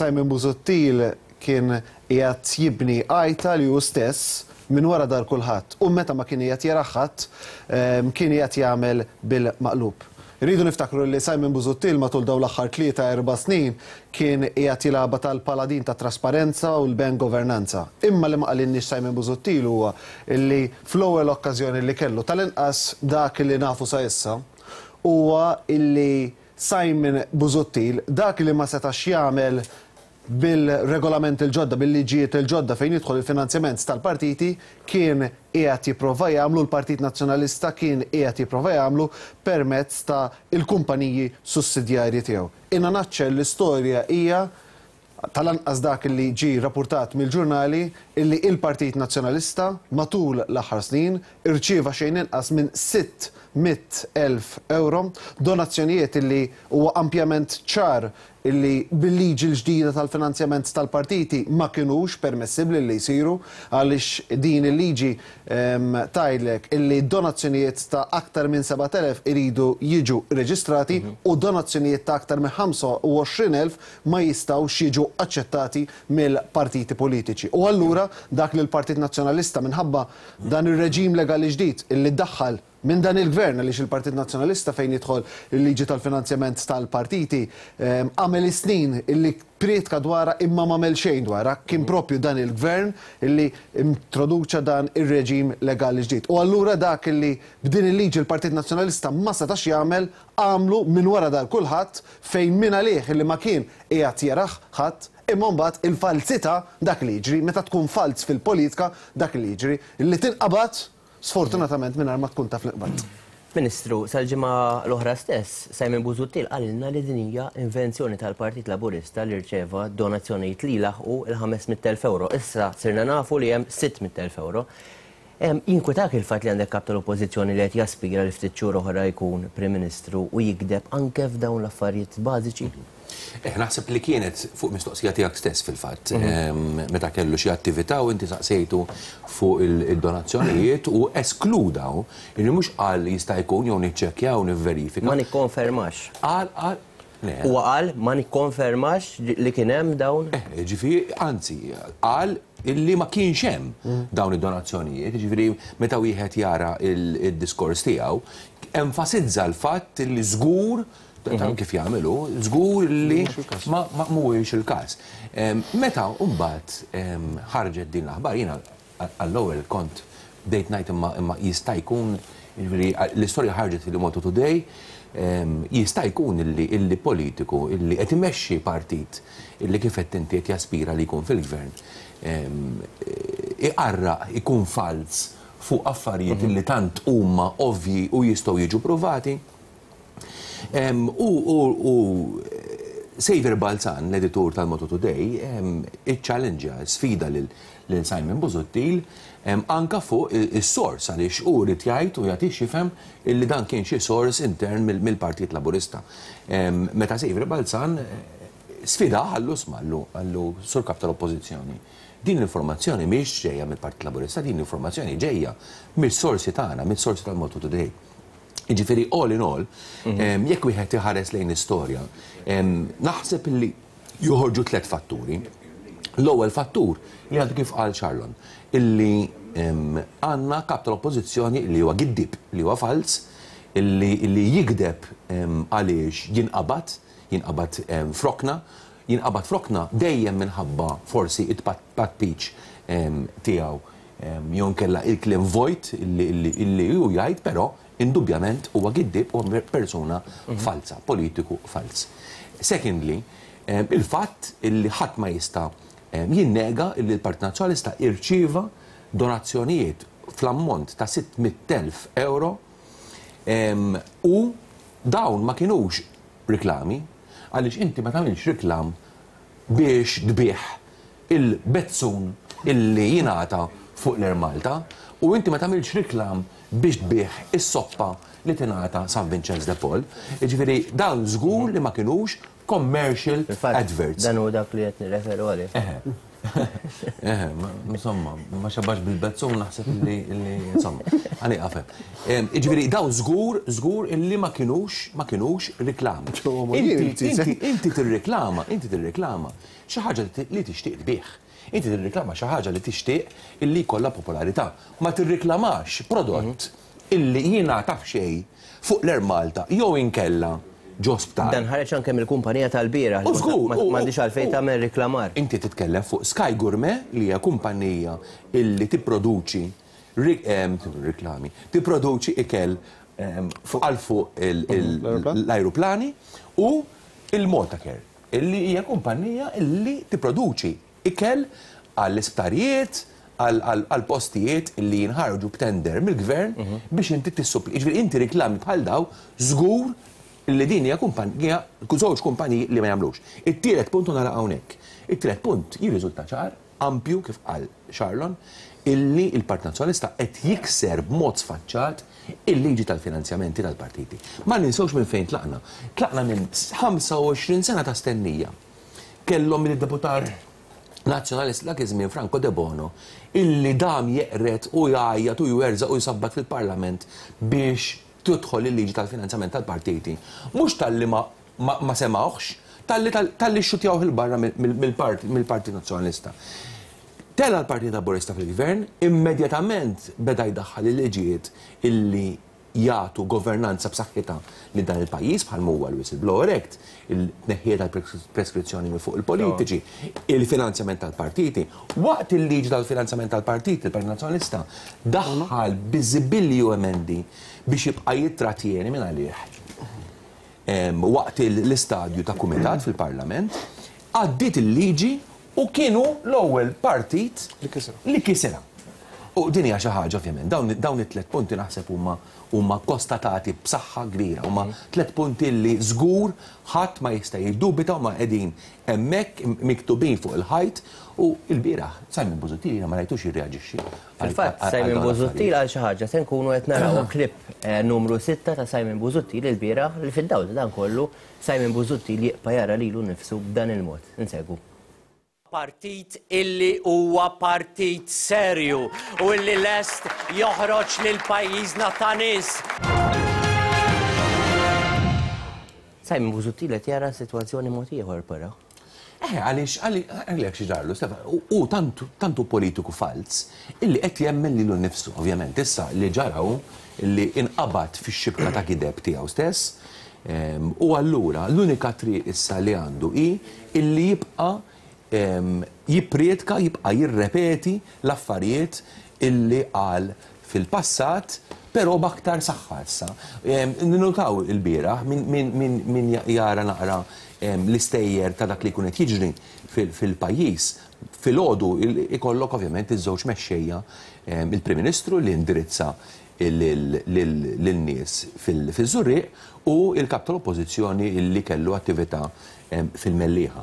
Simon Busuttil kien qiegħed jibni għajta li hu stess minn wara dar kulħadd u meta ma kien qiegħed jara ħadd kien qiegħed jagħmel bil-maqlub. Rridu niftakru li Simon Busuttil matul dawn l-aħħar tlieta erba' snin kien qiegħed jilgħabha tal-paladin ta' trasparenza u l-ben governanza. Imma li ma qalilniex Simon Busuttil huwa li fl-ewwel okkażjoni li kellu tal-inqas dak li nafu sa issa huwa illi Simon Busuttil dak li ma setax jagħmel bil-regolament il-ġodda, bil-liġijiet il-ġodda fejn jidħol il-finanzjament tal-partiti kien qiegħed jipprova jagħmlu l-Partit Nazzjonalista kien qiegħed jipprova jagħmlu permezz ta' il-kumpaniji sussidjarji tiegħu. In a nutshell l-istorja hija tal-anqas dak li ġie rapportat mill-ġurnali illi il-Partit Nazzjonalista matul l-aħħar snin irċieva xejn inqas minn sitt mitt elf euro donazzjonijiet illi huwa ampjament ċar illi bil-liġi l-ġdida tal-finanzjament tal-partiti ma kinux permessibbli li jsiru għaliex din il-liġi tgħidlek illi donazzjonijiet ta' aktar minn sebat elef iridu jiġu reġistrati u donazzjonijiet ta' aktar minn ħamsa u għoxrin elf ma jistgħux jiġu aċċettati mill-partiti politiċi. U allura dak li l-Partit Nazzjonalista minħabba dan ir-reġim legali ġdid illi ddaħħal minn dan il-gvern għaliex il-Partit Nazzjonalista fejn jidħol il-liġi tal-finanzjament tal-partiti għamel snin illi prietka dwarha imma m'għamel xejn dwarha, kien propju dan il-gvern illi introduċa dan ir-reġim legali ġdid. U allura dak illi b'din il-liġi l-Partit Nazzjonalista ma setax jagħmel għamlu minn wara dar kulħadd fejn min għalih illi ma kien qiegħed jaraħ ħadd. Imma mbagħad il-falsità dak li jiġri, meta tkun falz fil-politika dak li jiġri, illi tinqabad sfortunatament mingħajr ma tkun taf l-iqbad. Ministru, sal-ġimgħa l-oħra stess, Simon Busuttil qalilna li din hija invenzjoni tal-Partit Laburista li rċeva donazzjonijiet li laħqu il-ħames mitt elf euro. Issa sirna nafu li hemm sitt mitt elf euro. Jinkwetak il-fatt li għandek kap tal-Oppożizzjoni li qed jaspira li ftit xhur oħra jkun Prim Ministru u jikdeb anke f'dawn l-affarijiet bażiċi? Eh, naħseb li kienet fuq mistoqsija tiegħek stess fil-fatt, meta kellu xi attività u inti saqsejtu fuq il-donazzjonijiet u eskludaw illi mhux qal jista' jkun jew niċċekkjaw nivverifika. Ma nikkonfermax. Qal qal Huwa qal ma nikkonfermax li kien hemm dawn. Eh, ġifieri, anzi, qal illi ma kienx hemm dawn id-donazzjonijiet, ġifieri meta wieħed jara il-diskors tiegħu, enfasizza l-fatt li żgur kif jagħmlu, żgur li ma mhuwiex il-każ. Meta mbagħad ħarġet din l-aħbar, jiena għall-ewwel kont bdejt ngħid imma jista' jkun, jiġifieri l-istorja ħarġet fil-Malta Today, jista' jkun illi politiku illi qed imexxi partit illi kif qed inti qed jaspira li jkun fil-gvern iqarraq ikun falz fuq affarijiet illi tant huma ovvji u jistgħu jiġu provati. U Saviour Balzan, l-editur tal-Malta Today, iċċallenġa, sfida lil Simon Busuttil anka fuq is-sors għaliex hu rid jgħid u jagħti x'jifhem illi dan kien xi sors intern mill-Partit Laburista. Meta Saviour Balzan Sfida għallu smallu, għallu sur kap tal-oppożizzjoni. Din l-informazzjoni mhix ġejja mill-Partit Laburista, din l-informazzjoni ġejja mill-sorsi tagħna, mill-sorsi tal-Malta Today. Jiġifieri all in all, jekk wieħed iħares lejn istorja, naħseb li joħorġu tliet fatturi. L-ewwel fattur li għadu kif qal Charlon, illi għandna kap tal-oppożizzjoni li huwa giddib, li huwa fals, illi jigdeb għaliex jinqabad, jinqabad frokna, jinqabad frokna dejjem minħabba forsi it-patpiċ tiegħu jew inkella il-kliem vojt illi hu jgħid, però indubjament huwa giddib u persuna falsa, politiku fals. Secondly, il-fatt illi ħadd ma jista' jinnega illi l-Partit Nazzjonalista irċieva donazzjonijiet fl-ammont ta' sitt mitt elf euro u dawn ma kienux riklami, għaliex inti ma tagħmilx riklam biex tbih il-bezzun illi jingħata fuq l-Air Malta, u inti ma tagħmilx riklam biex tbih is-soppa li tingħata San Vincenz de Paul. Jiġifieri dawn żgur li ma kinux commercial adverts. Dan hu dak li qed nirreferu għalih. Eħe, insomma, ma xabax bil-bezzun naħseb li, insomma, għani għafem. Jiġifieri dawn żgur, żgur illi ma kinux, ma kinux riklami. Inti tirriklama, inti tirriklama xi ħaġa li tixtieq tbih. Inti tirriklama xi ħaġa li tixtieq illi jkollha popolarità. Ma tirriklamax prodott illi jingħata f'xejn fuq l-Air Malta jew inkella ġo sptar. Dan ħareġ anke mill-kumpanija tal-bieraħ. U żgur, m'għandix għalfejn tagħmel riklamar. Inti titkellem fuq Sky Gourmet li hija kumpanija illi tipproduċi riklami, tipproduċi ikel għal fuq l-ajruplani, u il-Maltacare illi hija kumpanija illi tipproduċi ikel għall-isptarijiet, għal postijiet illi jinħarġu b'tender mill-gvern biex inti tissupli. Jiġifieri inti riklami bħal daw żgur illi din hija kumpanija, żewġ kumpaniji li ma jagħmlux. It-tielet punt nara hawnhekk. It-tielet punt jirriżulta ċar, ampju kif qal Charlon, illi il-Partit Nazzjonalista qed jikser b'mod sfaċċat il-liġi tal-finanzjamenti tal-partiti. Ma ninsewx minn fejn tlaqna. Tlaqna minn ħamsa u għoxrin sena ta' stennija. Kellhom id-deputat Nazzjonalist dak iż-żmien Franco De Bono illi dam jeqret u jgħajjat u jwerżaq u jsabbat fil-Parlament biex tidħol il-liġi tal-finanzjament tal-partiti. Mhux talli ma, ma, ma semawx, talli, talli xxutjawh il-barra mill-Partit Nazzjonalista. Tela l-Partit Laburista fil-Gvern, immedjatament beda jdaħħal il-liġijiet illi jagħtu governanza b'saħħitha lil dan il-pajjiż bħal huwa l-Whistleblower Act, il-tneħħija tal-preskrizzjoni minn fuq il-politiċi, il-finanzjament tal-partiti. Waqt il-liġi tal-finanzjament tal-partiti, il-Partit Nazzjonalista daħħal biżibilju emendi biex jibqa' jittrattieni minn għalih. Waqt l-istadju ta' kumitat fil-Parlament, għaddiet il-liġi u kienu l-ewwel partit li kisirha. U din hija xi ħaġa ovvjament, dawn it-tliet punti naħseb huma huma kostatati b'saħħa kbira, huma tliet punti li żgur ħadd ma jista' jiddubita u ma qegħdin hemmhekk miktubin fuq il-ħajt. U l-bieraħ Simon Busuttil ma rajtux jirreaġixxi. Fil-fatt Simon Busuttil għal xi ħaġa se nkunu qed naraw klip numru sitta ta' Simon Busuttil il-bieraħ li fid-dawl ta' dan kollu Simon Busuttil jibqa' jara lilu nnifsu b'dan il-mod. Insegwu. Partit illi huwa partit serju u illi lest joħroġ lil pajjiżna ta' nies. Simon Busuttil qed jara sitwazzjoni mod ieħor però. Eh, għaliex għaliex xi ġarlu, Stefan, u tantu, tantu politiku fals illi qed jemmen lilu nnifsu, ovvjament. Issa li ġaraw illi inqabad fix-xibka ta' gideb tiegħu stess, u allura l-unika triq issa li għandu hi illi jibqa' jipprietka, jibqa' jirrepeti l-affarijiet illi qal fil-passat, però b'aktar saħħa issa. Ninnotaw il-bieraħ min jara naqra l-istejjer ta' dak li jkun qed jiġri fil-pajjiż. Filgħodu ikollok ovvjament iż-żewġ mexxejja, il-Prim Ministru li indirizza lin-nies fil-Żurrieq u il-kap tal-Oppożizzjoni li kellu attività fil-Mellieħa.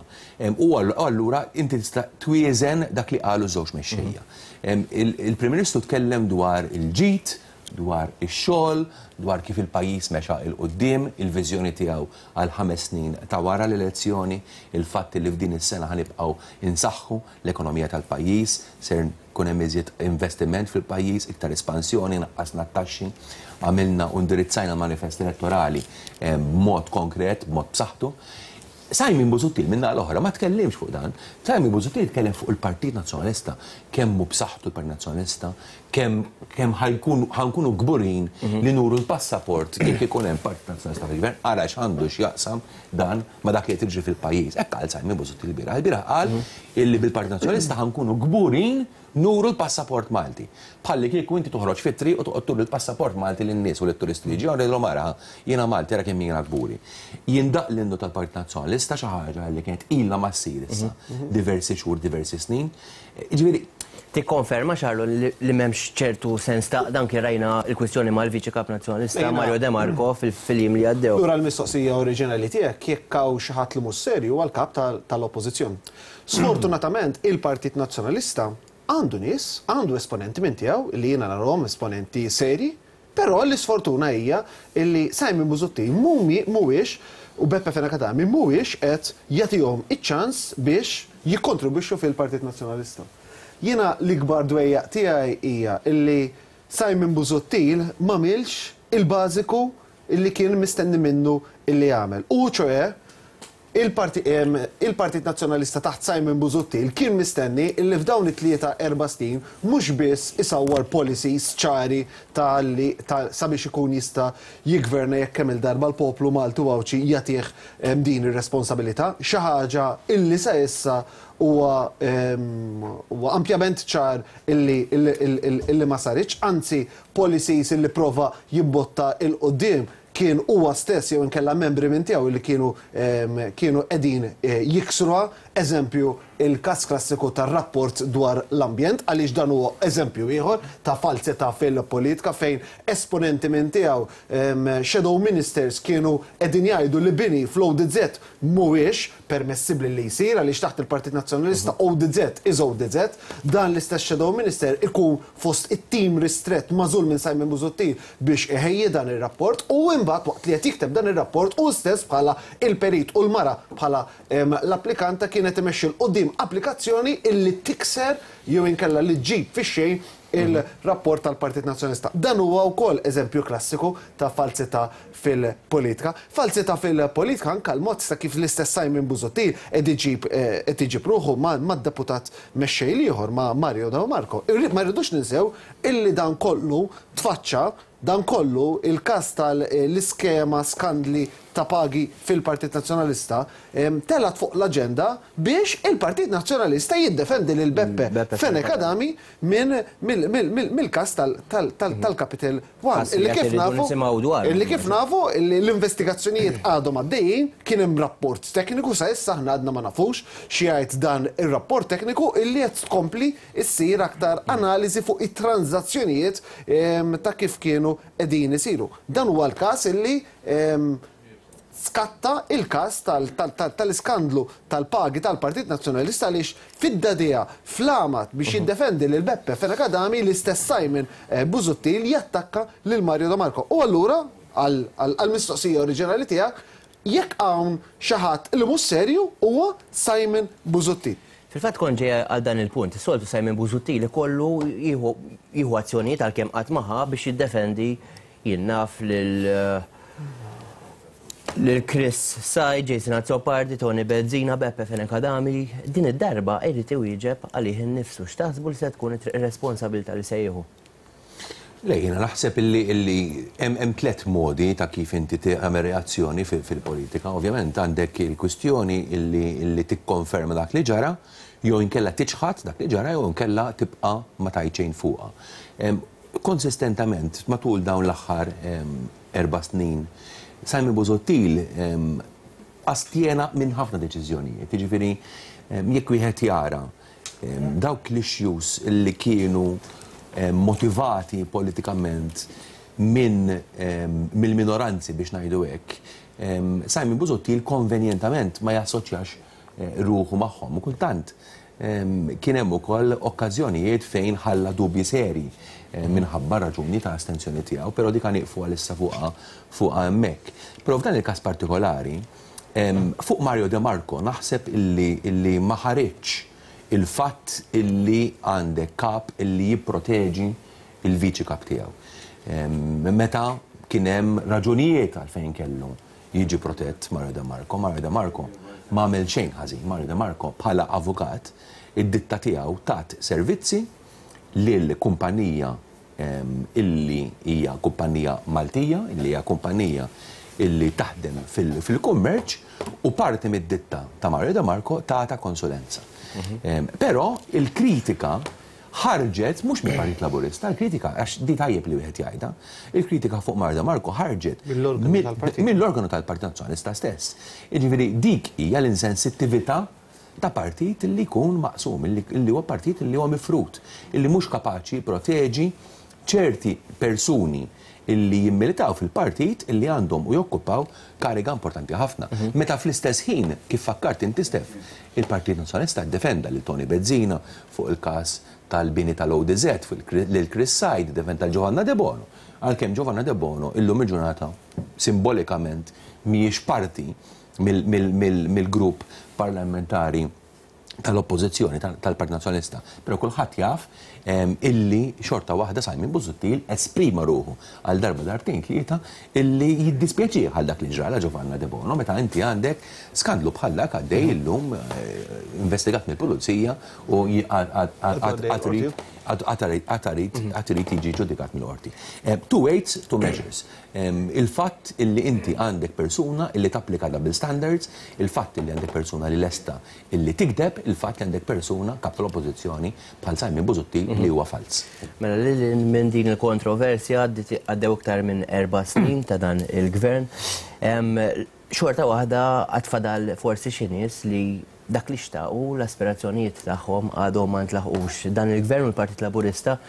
U allura inti tista' twieżen dak li qalu żewġ mexxejja. Il-Prim Ministru tkellem dwar il-ġid, dwar ix-xogħol, dwar kif il-pajjiż mexa 'l quddiem, il-viżjoni tiegħu għal ħames snin ta' wara l-elezzjoni, il-fatt li f'din is-sena ħanibqgħu insaħħu l-ekonomija tal-pajjiż, ser kun hemm iżjed investiment fil-pajjiż, iktar espansjoni, naqqasna t-taxxi, għamilna u indirizzajna l-manifest elettorali b'mod konkret, b'mod b'saħħtu. Simon Busuttil minna l-oħra ma tkellimx fuq dan. Simon Busuttil tkellem fuq il-Partit Nazzjonalista, kemm hu b'saħħtu l-Partit Nazzjonalista, kemm kemm ħankunu kburin li nuru l-passaport kif ikun hemm Partit Nazzjonalista fil-gvern, ara x'għandu x'jaqsam dan ma dak li qed jiġri fil-pajjiż. Hekk qal Simon Busuttil il-bieraħ. Il-bieraħ qal illi bil-Partit Nazzjonalista ħankunu kburin nuru l-passaport Malti. Bħalli kieku inti toħroġ fit-triq u toqgħod turi l-passaport Malti lin-nies u lit-turisti li ġew jgħidulhom ara jiena Malti ara kemm jiena kburi. Jindaq l-innu tal-Partit Nazzjonalista xi ħaġa li kienet ilha ma ssir issa diversi xhur, diversi snin. Jiġifieri tikkonferma Charlo li m'hemmx ċertu sens ta' dan kien rajna l-kwistjoni mal-Viċi Kap Nazzjonalista Mario De Marco fil-jiem li għaddew. Lura l-mistoqsija oriġinali tiegħek jekk hawn xi ħadd li mhux serju huwa l-kap tal-Oppożizzjoni. Sfortunatament il-Partit Nazzjonalista għandu nies, għandu esponenti minn tiegħu li jiena narahom esponenti seri, però l-isfortuna hija li Simon Busuttil mhuwiex u Beppe Fenech Adami mhuwiex qed jagħtihom iċ-ċans biex jikkontribwixxu fil-Partit Nazzjonalista. Jiena l-ikbar dwejjaq tiegħi hija illi Simon Busuttil m'għamilx il-bażiku illi kien mistenni minnu illi jagħmel. U ċoe il-Partit Nazzjonalista taħt Simon Busuttil kien mistenni illi f'dawn it-tlieta erba' snin mhux biss isawwar policies ċari tal-li sabiex ikun jista' jiggverna jekk kemm il-darba l-poplu Malti u Għawdxi jagħtih din ir-responsabilità, xi ħaġa illi sa issa huwa ampjament ċar illi ma saritx, anzi policies illi prova jimbotta il quddiem kien huwa stess jew inkella membri minn tiegħu li kienu kienu qegħdin jiksruha, eżempju il-każ klassiku tar-rapport dwar l-ambjent, għaliex dan huwa eżempju ieħor ta' falsità fil-politika fejn esponenti minn tiegħu shadow ministers kienu qegħdin jgħidu li bini fl-O D Z mhuwiex permessibbli li jsir għaliex taħt il-Partit Nazzjonalista O D Z is O D Z, dan l-istess shadow minister ikun fost it-tim ristrett magħżul minn Simon Busuttil biex iħejji dan ir-rapport u imbagħad waqt li qed jikteb dan ir-rapport u stess bħala il-perit u l-mara bħala l-applikanta kienet imexxi l quddiem applikazzjoni illi tikser jew inkella li ġġib fix-xejn il-rapport tal-Partit Nazzjonalista. Dan huwa wkoll eżempju klassiku ta' falsità fil-politika. Falsità fil-politika anke l-mod ta' kif l-istess Simon Busuttil qed iġib qed iġib ruħu mad-deputat mexxej ieħor ma' Mario De Marco. Ma rridux ninsew illi dan kollu tfaċċa, dan kollu il-każ tal-iskema skandli ta' pagi fil-Partit Nazzjonalista telat fuq l-aġenda biex il-Partit Nazzjonalista jiddefendi lil Beppe Fenech Adami mill-każ tal-Capital One. Illi kif nafu l-investigazzjonijiet għadhom għaddejjin, kien hemm rapport tekniku sa issa aħna għadna ma nafux xi jgħid dan ir-rapport tekniku illi qed tkompli ssir aktar analiżi fuq it-transazzjonijiet ta' kif kienu qegħdin isiru. Dan huwa l-każ illi skatta il-każ tal-iskandlu tal-pagi tal-Partit Nazzjonalista għaliex fid-dadija flamat biex jiddefendi lil Beppe Fenech Adami l-istess Simon Busuttil jattakka lil Mario De Marco. U allura għall-mistoqsija oriġinali tiegħek jekk hawn xi ħadd li mhux serju huwa Simon Busuttil. Fil-fatt kont ġej għal dan il-punt, is-soltu Simon Busuttil ikollu jieħu azzjonijiet għalkemm qatt ma ħa biex jiddefendi jien naf lil lil Chris Said, Jason Azzopardi, Tony Bezzina, Beppe Fenech Adami. Din id-darba irid iwieġeb għalih innifsu. X'taħsbu li se tkun ir-responsabilità li se jieħu? Le, jiena naħseb illi hemm tliet modi ta' kif inti tagħmel reazzjoni fil-politika. Ovvjament għandek il-kwistjoni illi tikkonferma dak li ġara, jew inkella tiċħad dak li ġara, jew inkella tibqa' ma tgħid xejn fuqha. Konsistentament matul dawn l-aħħar erba' snin, Simon Busuttil astjena minn ħafna deċiżjonijiet. Jiġifieri jekk wieħed jara dawk l-issues li kienu motivati politikament minn mill-minoranzi biex ngħidu hekk, Simon Busuttil konvenjentament ma jassoċjax ruħu magħhom u kultant Kien hemm ukoll okkażjonijiet fejn ħalla dubji seri minħabba raġuni ta' astensjoni tiegħu, però dik nieqfu għalissa fuqha fuqha hemmhekk. Però f'dan il-każ partikolari, fuq Mario De Marco naħseb illi, illi ma ħareġx il-fatt illi għandek kap illi jipproteġi il-viċi kap tiegħu. Meta kien hemm raġunijiet għalfejn kellu jiġi protett Mario De Marco, Mario De Marco ma għamel xejn ħażin. Mario De Marco bħala avukat id-ditta tiegħu tat servizzi lil kumpanija illi hija kumpanija Maltija, illi hija kumpanija illi taħdem fil-kummerċ, u parti mid-ditta ta' Mario De Marco tata konsulenza. Però il-kritika ħarġet mhux mill-Partit Laburista, il-kritika, għax di tajjeb li wieħed jgħidha, il-kritika fuq Mario De Marco ħarġet mill-organu tal-Partit Nazzjonalista stess. Jiġifieri dik hija l-insensittività ta' partit li jkun maqsum, illi huwa partit li huwa mifrut, illi mhux kapaċi jipproteġi ċerti persuni illi jimmilitaw fil-partit illi għandhom u jokkupaw kariga importanti ħafna. Meta fl-istess ħin, kif fakkart inti Stef, il-Partit Nazzjonalista ddefenda lil Tony Bezzina fuq il-każ tal-bini tal-O D Z, lil Chris Said, defenda Giovanna De Bono. Għalkemm Giovanna De Bono illum il-ġurnata simbolikament mhijiex parti mill-grupp parlamentari tal-oppożizzjoni tal-Partit Nazzjonalista, però kulħadd jaf illi xorta waħda Simon Busuttil esprima ruħu għal darba darbtejn tlieta illi jiddispjaċih għal dak li ġrala Giovanna De Bono, meta inti għandek skandlu bħal dak għaddej illum investigat mill-pulizija u għad irid jiġi ġudikat mill-qorti. Two weights, two measures. Il-fatt illi inti għandek persuna illi tapplika double standards, il-fatt illi għandek persuna li lesta illi tikdeb, il-fatt li għandek persuna kap tal-oppożizzjoni bħal Simon Busuttil li huwa fals. Mela lil minn din il-kontroversja għaddew iktar minn erba' snin ta' dan il-gvern. Xorta waħda għad fadal forsi xi nies li dak li xtaqu l-aspirazzjonijiet tagħhom għadhom ma ntlaħqux. Dan il-gvern u l-Partit Laburista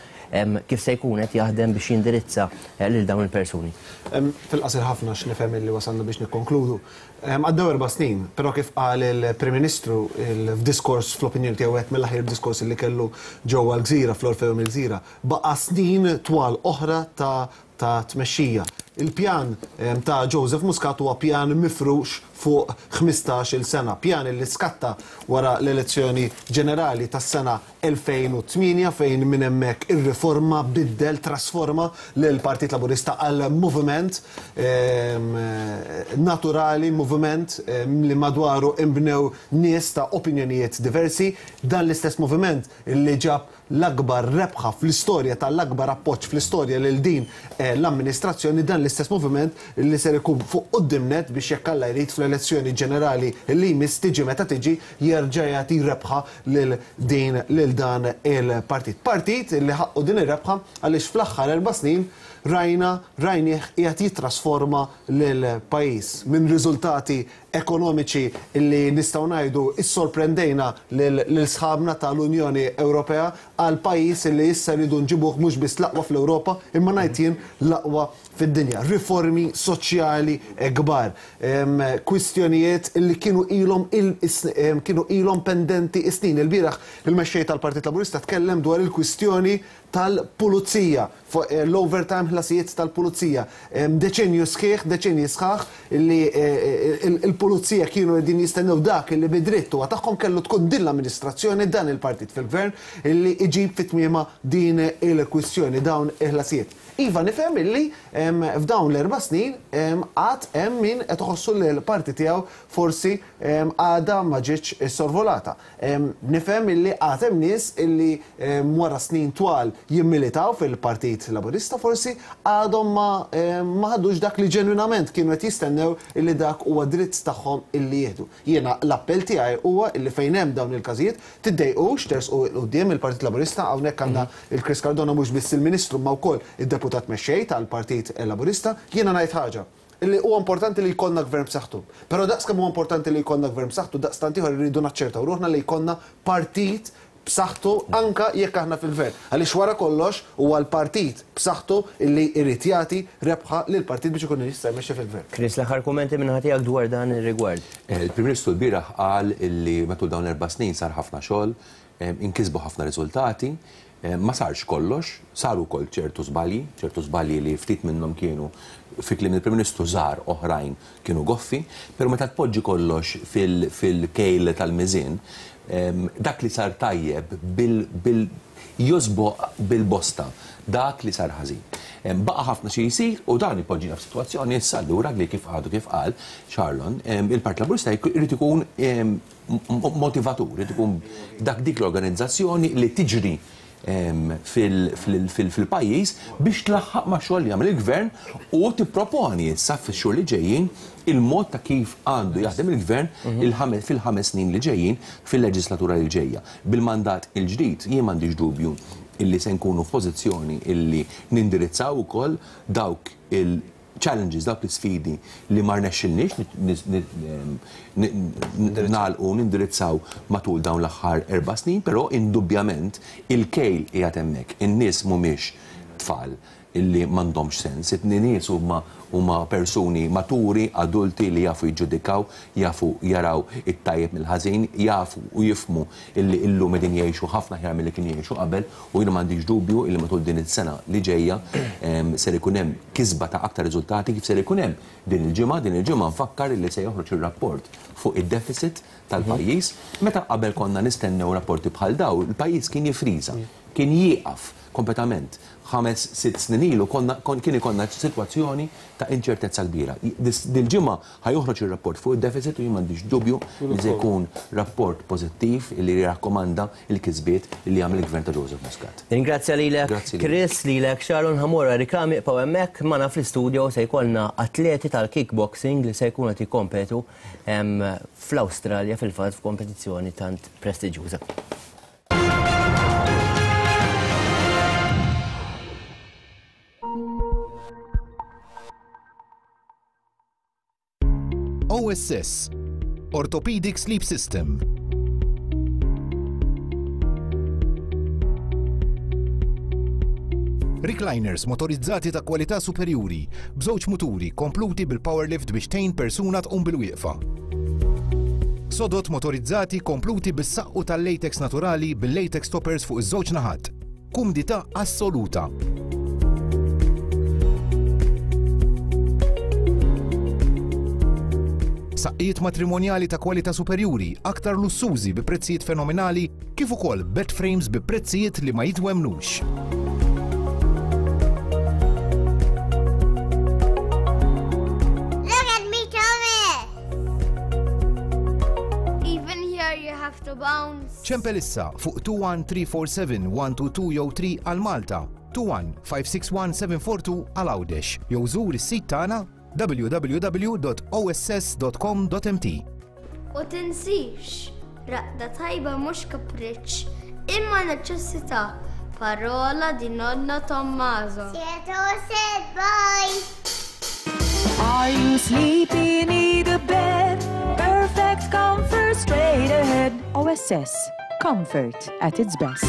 kif se jkun qed jaħdem biex jindirizza lil dawn il-persuni? Fil-qasir ħafna x'nifhem li wasalna biex nikkonkludu. Għaddew erba' snin, però kif qal il-Prim Ministru f'diskors fl-opinjoni tiegħu wieħed mill-aħjar diskors li kellu ġewwa l-Gżira fl-Orfeum il-Gżira, baqa' snin twal oħra ta' ta' tmexxija. Il-pjan ta' Joseph Muscat huwa pjan mifrux fuq ħmistax-il sena, pjan li skatta wara l-elezzjoni ġenerali tas-sena elfejn u tmienja fejn minn hemmhekk ir-riforma biddel, trasforma lil Partit Laburista għal moviment naturali, moviment li madwaru imbnew nies ta' opinjonijiet diversi. Dan l-istess moviment li ġab l-akbar rebħa fl-istorja tal-akbar appoġġ fl-istorja lil din l-amministrazzjoni, dan l-istess moviment li ser ikun fuq quddiem net biex jekk Alla jrid fl-elezzjoni ġenerali li jmiss tiġi meta tiġi jerġa' jagħti rebħa lil din lil dan il-partit. Partit li ħaqqu din ir-rebħa għaliex fl-aħħar erba' snin rajna rajnieh qiegħed jitrasforma lil pajjiż minn riżultati ekonomiċi li nistgħu ngħidu issorprendejna lil sħabna tal-Unjoni Ewropea għal pajjiż li issa rridu nġibuh mhux biss l-aqwa fl-Ewropa imma ngħid jien l-aqwa fid-dinja. Riformi soċjali kbar, kwistjonijiet li kienu ilhom kienu ilhom pendenti snin. Il-bieraħ il-mexxej tal-Partit Laburista tkellem dwar il-kwistjoni tal-pulizija, l-overtime ħlasijiet tal-pulizija. Deċenju sħiħ, deċenji sħaħ li il-pulizija kienu qegħdin jistennew dak li bidritt huwa tagħhom kellu tkun din l-amministrazzjoni, dan il-partit fil-gvern illi iġib fit-tmiema din il-kwistjoni, dawn il-ħlasijiet. Iva nifhem illi f'dawn l-erba' snin għad hemm min qed iħossu li l-parti tiegħu forsi għadha ma ġietx sorvolata. Nifhem illi għad hemm nies illi wara snin twal jimmilitaw fil-Partit Laburista forsi għadhom ma ħadux dak li ġenwinament kienu qed jistennew illi dak huwa dritt tagħhom illi jieħdu. Jiena l-appell tiegħi huwa illi fejn hemm dawn il-każijiet tiddejqux tersqu 'l quddiem il-Partit Laburista. Hawnhekk għandna il-Chris Cardona mhux biss il-Ministru ma wkoll id-deputat mexxej tal-Partit Laburista. Jiena ngħid ħaġa illi huwa importanti li jkollna gvern b'saħħtu. Però daqs kemm huwa importanti li jkollna gvern b'saħħtu, daqstant ieħor irridu naċċertaw ruħna li jkollna partit b'saħħtu anka jekk aħna fil-gvern. Għaliex wara kollox huwa l-partit b'saħħtu illi jrid jagħti rebħa lill-partit biex ikun jista' jmexxi fil-gvern. Chris, l-aħħar kummenti minn ħatijak dwar dan ir-rigward. Il-Prim Ministru l-bieraħ qal illi matul dawn l-erba' snin sar ħafna xogħol, inkisbu ħafna riżultati, ma sarx kollox, saru wkoll ċertu żbalji, ċertu żbalji li ftit minnhom kienu fi kliem il-Prim Ministru żgħar, oħrajn kienu goffi, però meta tpoġġi kollox fil-kejl tal-miżien, dak li sar tajjeb bil josboq bil-bosta dak li sar ħażin. Baqa' ħafna xi jsir u dan ipoġġina f'sitwazzjoni issa allura li kif għadu kif qal Charlon, il-Partit Laburista jrid ikun motivatur, irid ikun dak dik l-organizzazzjoni li tiġri fil-pajjiż biex tlaħħaq ma' xogħol li jagħmel il-gvern u tipproponi issa fix-xhur li ġejjin il-mod ta' kif għandu jaħdem il-gvern fil-ħames snin li ġejjin fil-leġislatura li ġejja. Bil-mandat il-ġdid jien m'għandix dubju illi se nkunu f'pożizzjoni illi nindirizzaw ukoll dawk il- challenges, dawk l-sfidi li ma rnexxilniex nagħlqu nindirizzaw matul dawn l-aħħar erba' snin, però indubbjament il-kejl qiegħed hemmhekk. In-nies mhumiex tfal illi m'għandhomx sens, it-nies huma huma persuni maturi, adulti li jafu jiġġudikaw, jafu jaraw it-tajjeb mill-ħażin, jafu u jifmu illi illum qegħdin jgħixu ħafna aħjar milli kienu jgħixu qabel, u jiena m'għandix dubju illi matul din is-sena li ġejja ser ikun hemm kisba ta' aktar riżultati kif ser ikun hemm din il-ġimgħa. Din il-ġimgħa nfakkar illi se joħroġ ir-rapport fuq id-deficit tal-pajjiż. Meta qabel konna nistennew rapporti bħal daw, il-pajjiż kien jifriża, kien jieqaf kompletament. Ħames, sitt snin ilu kien ikollna sitwazzjoni ta' inċertezza kbira. Dil-ġimgħa ħajoħroġ ir-rapport fuq id-deficit u jien m'għandix dubju li se jkun rapport pożittiv li jirrakkomanda l-kisbiet li jagħmel il-gvern ta' Joseph Muscat. Ringrazzja lilek Chris, lilek Sharon. Ħamora riklami ibqgħu hemmhekk magħna fl-istudio se jkollna atleti tal-kickboxing li se jkunu qed jikkompetu fl-Awstralja fil-fatt f'kompetizzjoni tant prestiġjuża. O S S, Orthopedic Sleep System. Recliners motorizzati ta' kwalità superjuri, b'żewġ muturi kompluti bil-power lift biex tgħin persuna tqum bil-wieqfa. Sodot motorizzati kompluti bis-saqqu tal-latex naturali bil-latex toppers fuq iż-żewġ naħat. Kumdità assoluta. Saqqijiet matrimonjali ta' kwalità superjuri, aktar lussużi bi prezzijiet fenomenali, kif ukoll bed frames bi prezzijiet li ma jitwemnux. Look at me, Thomas! Even here you have to bounce. Ċempel issa fuq two one three four seven one two two jew three għal Malta, two one five six one seven four two għal Għawdex, jew żur is-sit tagħna w w w dot o s s dot com dot m t. U tinsix, raqda tajba mhux kapriċċ, imma neċessità. Parola di nonna Tommaso. Said, bye. Are you sleepy? Need a bed? Perfect comfort straight ahead. O S S, comfort at its best.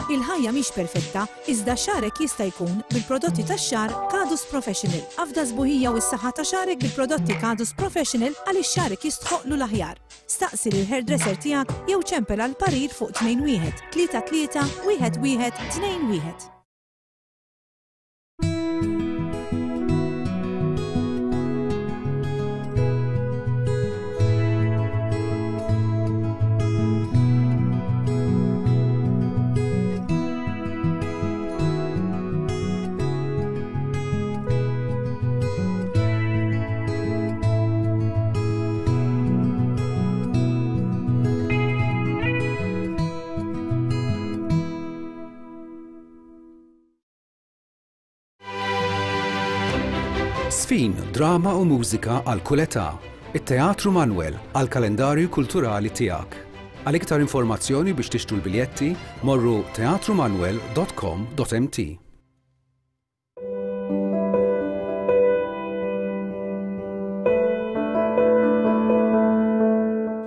Il-ħajja mhix perfetta, iżda xarek jista' jkun bil-prodotti tax-xar Kadus Professional. Afda sbuħija u s-saħħa ta' xarek bil-prodotti Kadus Professional għaliex xarek jistħoqlu l-aħjar. Staqsi lil hairdresser tiegħek jew ċempel għal parir fuq tnejn wieħed tlieta tlieta wieħed wieħed tnejn wieħed. Sfin, drama u mużika għal kull età. It-Teatru Manuel għal kalendarju kulturali tiegħek. Għal iktar informazzjoni biex tixtru l-biljetti, morru teatrumanuel dot com dot m t.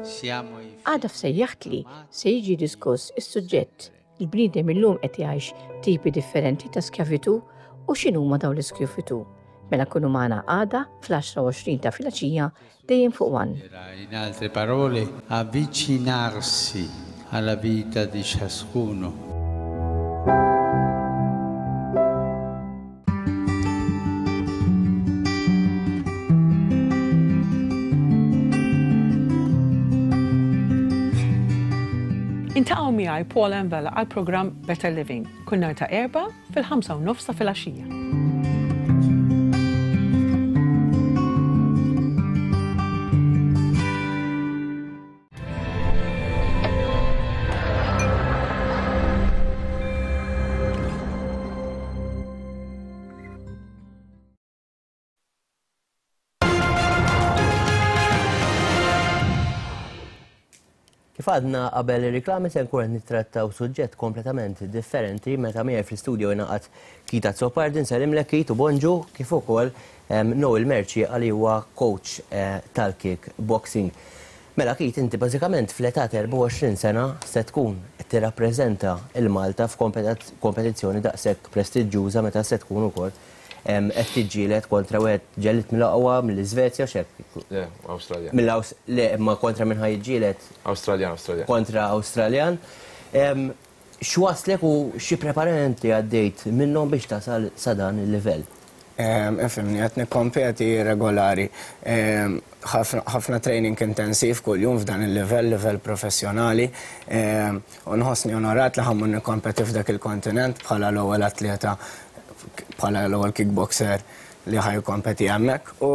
Siamo i Għada f'Sejjaħtli se jiġi diskuss is-suġġett il-bniedem illum qed jgħix tipi differenti ta' skjavitu u x'inhuma dawn l-iskjavitu. Mela kunu magħna għada fl-għaxra u għoxrin ta' filgħaxija dejjem fuq One. In altre parole, avvicinarsi alla vita di ciascuno. Iltaqgħu miegħi Paul Envela għal programm Better Living kull nhar ta' Erbgħa fil-ħamsa u nofs ta' filgħaxija. Kif għadna qabel ir-riklami se nkun qed nittrattaw suġġett kompletament differenti meta miegħi fl-istudio ingħaqad Keith Azzopardi, nsellimlek Keith u bonġu, kif ukoll Noel Mercieca li huwa coach tal-kick boxing. Mela Keith, inti bażikament fl-età ta' erbgħa u għoxrin sena se tkun qed tirrappreżenta il-Malta f'kompetizzjoni daqshekk prestiġjuża meta se tkun ukoll qed tiġġieled kontra wieħed ġellied mill-aqwa mill-Iżvezja x'hekk. Le, Awstralja. Mill-Aws, le, imma kontra minn ħa jiġġieled? Awstraljan, Awstraljan. Kontra Awstraljan. X'waslek u xi preparamenti għaddejt minnhom biex tasal sa dan il-livell? Ifhimni, qed nikkompeti regolari. Ħafna training intensiv kuljum f'dan il-livell, livell professjonali. U nħossni onorat li ħa mmur nikkompeti f'dak il-kontinent bħala l-ewwel atleta, bħala l-ewwel kickboxer li ħa jikkompeti hemmhekk u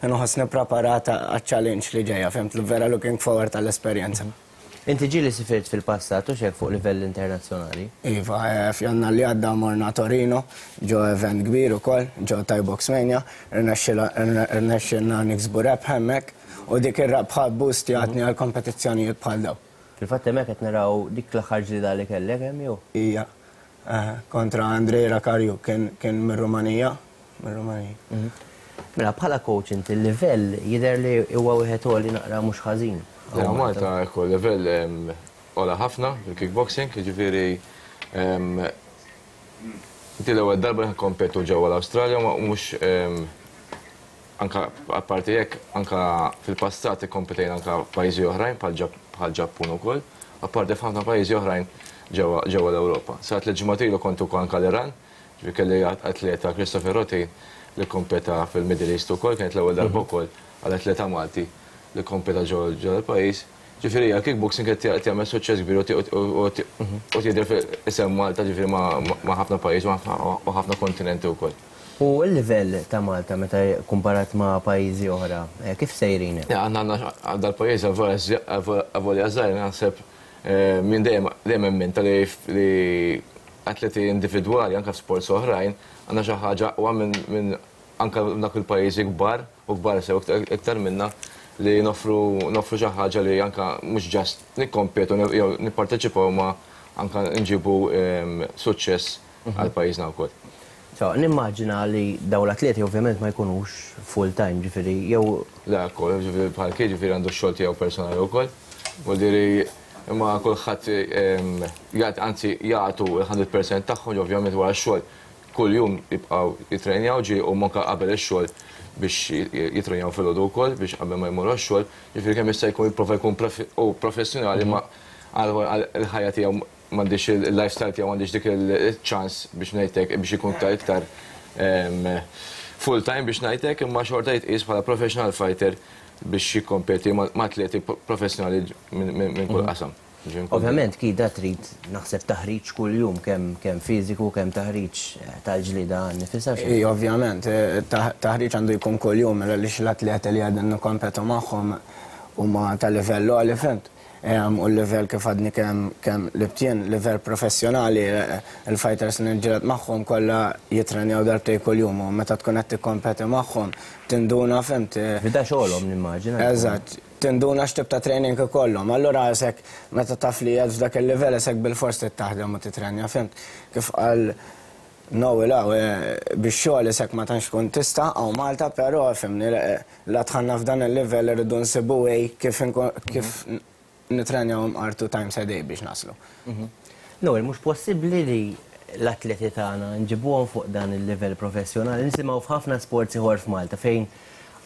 nħossni preparata għaċ-challenge li ġejja, fhimt, li vera looking forward għall-esperjenza. Inti ġieli sifirt fil-passat u xek fuq livell internazzjonali? Iva, f'Jannar li għadda morna Torino, ġo event kbir ukoll, ġo Thai Box Mania, irnexxilna niksbu rebħ hemmhekk u dik ir-rebħa boost jagħtni għal kompetizzjonijiet bħal dawn. Fil-fatt hemmhekk qed naraw dik l-aħħar ġlieda li kellek hemm jew? Ija. Kontra Andrei Rakarju, kien mir-Rumanija. Mir-Rumanija. Mela bħala coach inti l-livell jidher li huwa wieħed għoli naqra mhux ħażin. Le, Malta ekku livell għola ħafna fil-kickboxing, jiġifieri inti l-ewwel darba li nkompetu ġewwa l-Awstralja u mhux anka apparti hekk anka fil-passat ikkompetejna anka f'pajjiżi oħrajn bħal Ġappun ukoll, apparti f'ħafna pajjiżi oħrajn ġewwa l-Ewropa. Sa tliet ġimgħat ilu kont ukoll anka l-Iran, ġifieri kelli atleta Christopher Roti li kompeta fil-Middle East ukoll, kienet l-ewwel darba wkoll għal atleta Malti li kompeta ġewwa l-pajjiż. Ġifieri l-kickboxing qed jagħmel suċċess kbir u jidher isem Malta ġifieri ma' ħafna pajjiż u ħafna kontinenti wkoll. U l-livell ta' Malta meta kumparat ma' pajjiżi oħra, kif sejrin? Aħna għandna dal-pajjiż avolja żgħir naħseb minn dejjem dejjem minn tal-li atleti individwali anke f'sports oħrajn għandna xi ħaġa aqwa minn anke dak il-pajjiżi kbar u kbar sew iktar minna li noffru noffru xi ħaġa li anke mhux ġast nikkompetu jew nipparteċipaw ma anke nġibu suċċess għal pajjiżna wkoll. So, nimmaġina li dawn l-atleti ovvjament ma jkunux full time, ġifieri jew Le, wkoll, ġifieri bħal kien ġifieri għandu x-xogħol tiegħu personali wkoll. Vuol dire imma kulħadd anzi jagħtu il-hundred percent tagħhom, ovvjament wara x-xogħol kuljum jibqgħu jitrenjaw ġi u manka qabel ix-xogħol biex jitrenjaw filgħodu wkoll biex qabel ma jmorru għax-xogħol, ġifieri kemm jista' jkun jipprova jkun u professjonali ma għal-ħajja tiegħu m'għandix il-lifestyle tiegħu m'għandix dik il-ċans biex ngħidlek biex ikun ta' iktar full time biex ngħidlek imma xorta jitqies bħala professional fighter biex jikkompeti ma' atleti professjonali minn kull qasam. Ovvjament kida trid naħseb taħriġ kuljum kemm kemm fiżiku kemm taħriġ tal-ġlieda nifisha xi. Ej, ovvjament, taħriġ għandu jkun kuljum għaliex l-atleti li qegħdin nikkompetu magħhom huma ta' livell għoli, fhimt? U l-livell kif għadni kemm kemm libtien, livell professjonali, il-fighters li nġieled magħhom kollha jitrenjaw darbtejn kuljum u meta tkun qed tikkompeti magħhom tinduna, fhimt? Fida xogħolhom nimmaġina. Eżatt, tinduna x'tip ta' training ikollhom. Allura isek meta taf li qed f'dak il-livell isek bilfors trid taħdem u titrenja, fhimt? Kif qal Noel hawn bix-xogħol isek ma tantx tkun tista' hawn Malta, però fhimni la dħalna f'dan il-livell irridu nsibu way kif kif nitrenjaw imqar two times a day biex naslu. Noel, mhux possibbli li l-atleti tagħna nġibuhom fuq dan il-livell professjonali. Nisimgħu f'ħafna sports ieħor f'Malta fejn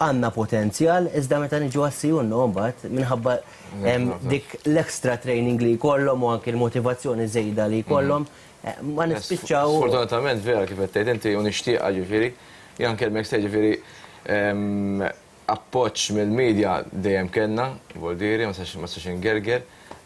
għandna potenzjal, iżda meta niġu għas-sijunnu mbagħad minħabba dik l-extra training li jkollhom u anke l-motivazzjoni żejda li jkollhom ma nispiċċaw. Sfortunatament vera kif qed tgħid inti u nixtieqha ġifieri, jien nkellmek se ġifieri appoġġ mill-medja dejjem kellna, vuol dire, ma sax ingerger,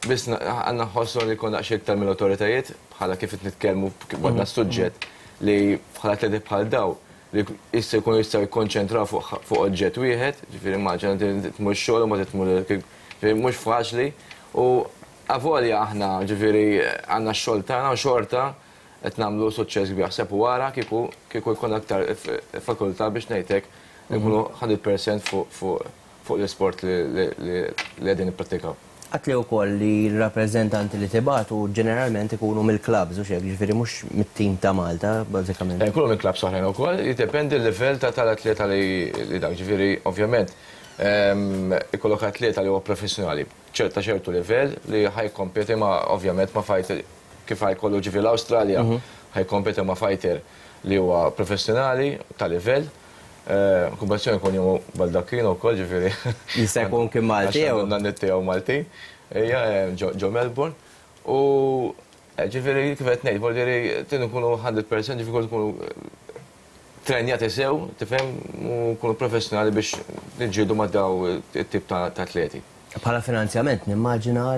biss għandna nħossu li jkun daqsxejn iktar mill-awtoritajiet bħala kif qed nitkellmu għadna suġġett li bħala atleti bħal daw li issa jkunu jistgħu jikkonċentraw fuq oġġett wieħed, ġifieri immaġina tmur xogħol u ma tmur ġifieri mhux faċli u avolja aħna ġifieri għandna x-xogħol tagħna u xorta qed nagħmlu suċċess kbir. Ħseb wara kieku kieku jkun aktar fakultà biex ngħidlek nkunu hundred percent fuq l-isport li qegħdin nipprattikaw. Għatli wkoll li l-rappreżentanti li tibatu ġeneralment ikunu mill-klabs u xek, ġifieri mhux mit-tim ta' Malta, bażikament. Ikunu mill-klabs oħrajn ukoll, jiddependi l-livell tal-atleta li dak, ġifieri ovvjament ikollok atleta li huwa professjonali, ċerta ċertu livell li ħajkompeti ma' ovvjament ma' fighter kif ħajkollu ġifieri l-Awstralja, ħajkompeti ma' fighter li huwa professjonali ta' livell. Kompetizzjoni jkun jom Baldacchino wkoll, ġifieri. Jista' jkun kien Malti jew? Nanni tiegħu Malti, ejja, ġo Melbourne. U ġifieri kif qed ngħid, vuol dire tin nkunu hundred percent, ġifieri nkunu trenjati sew, tifhem, u nkunu professjonali biex niġġieldu ma' daw it-tip ta' atleti. Bħala finanzjament nimmaġina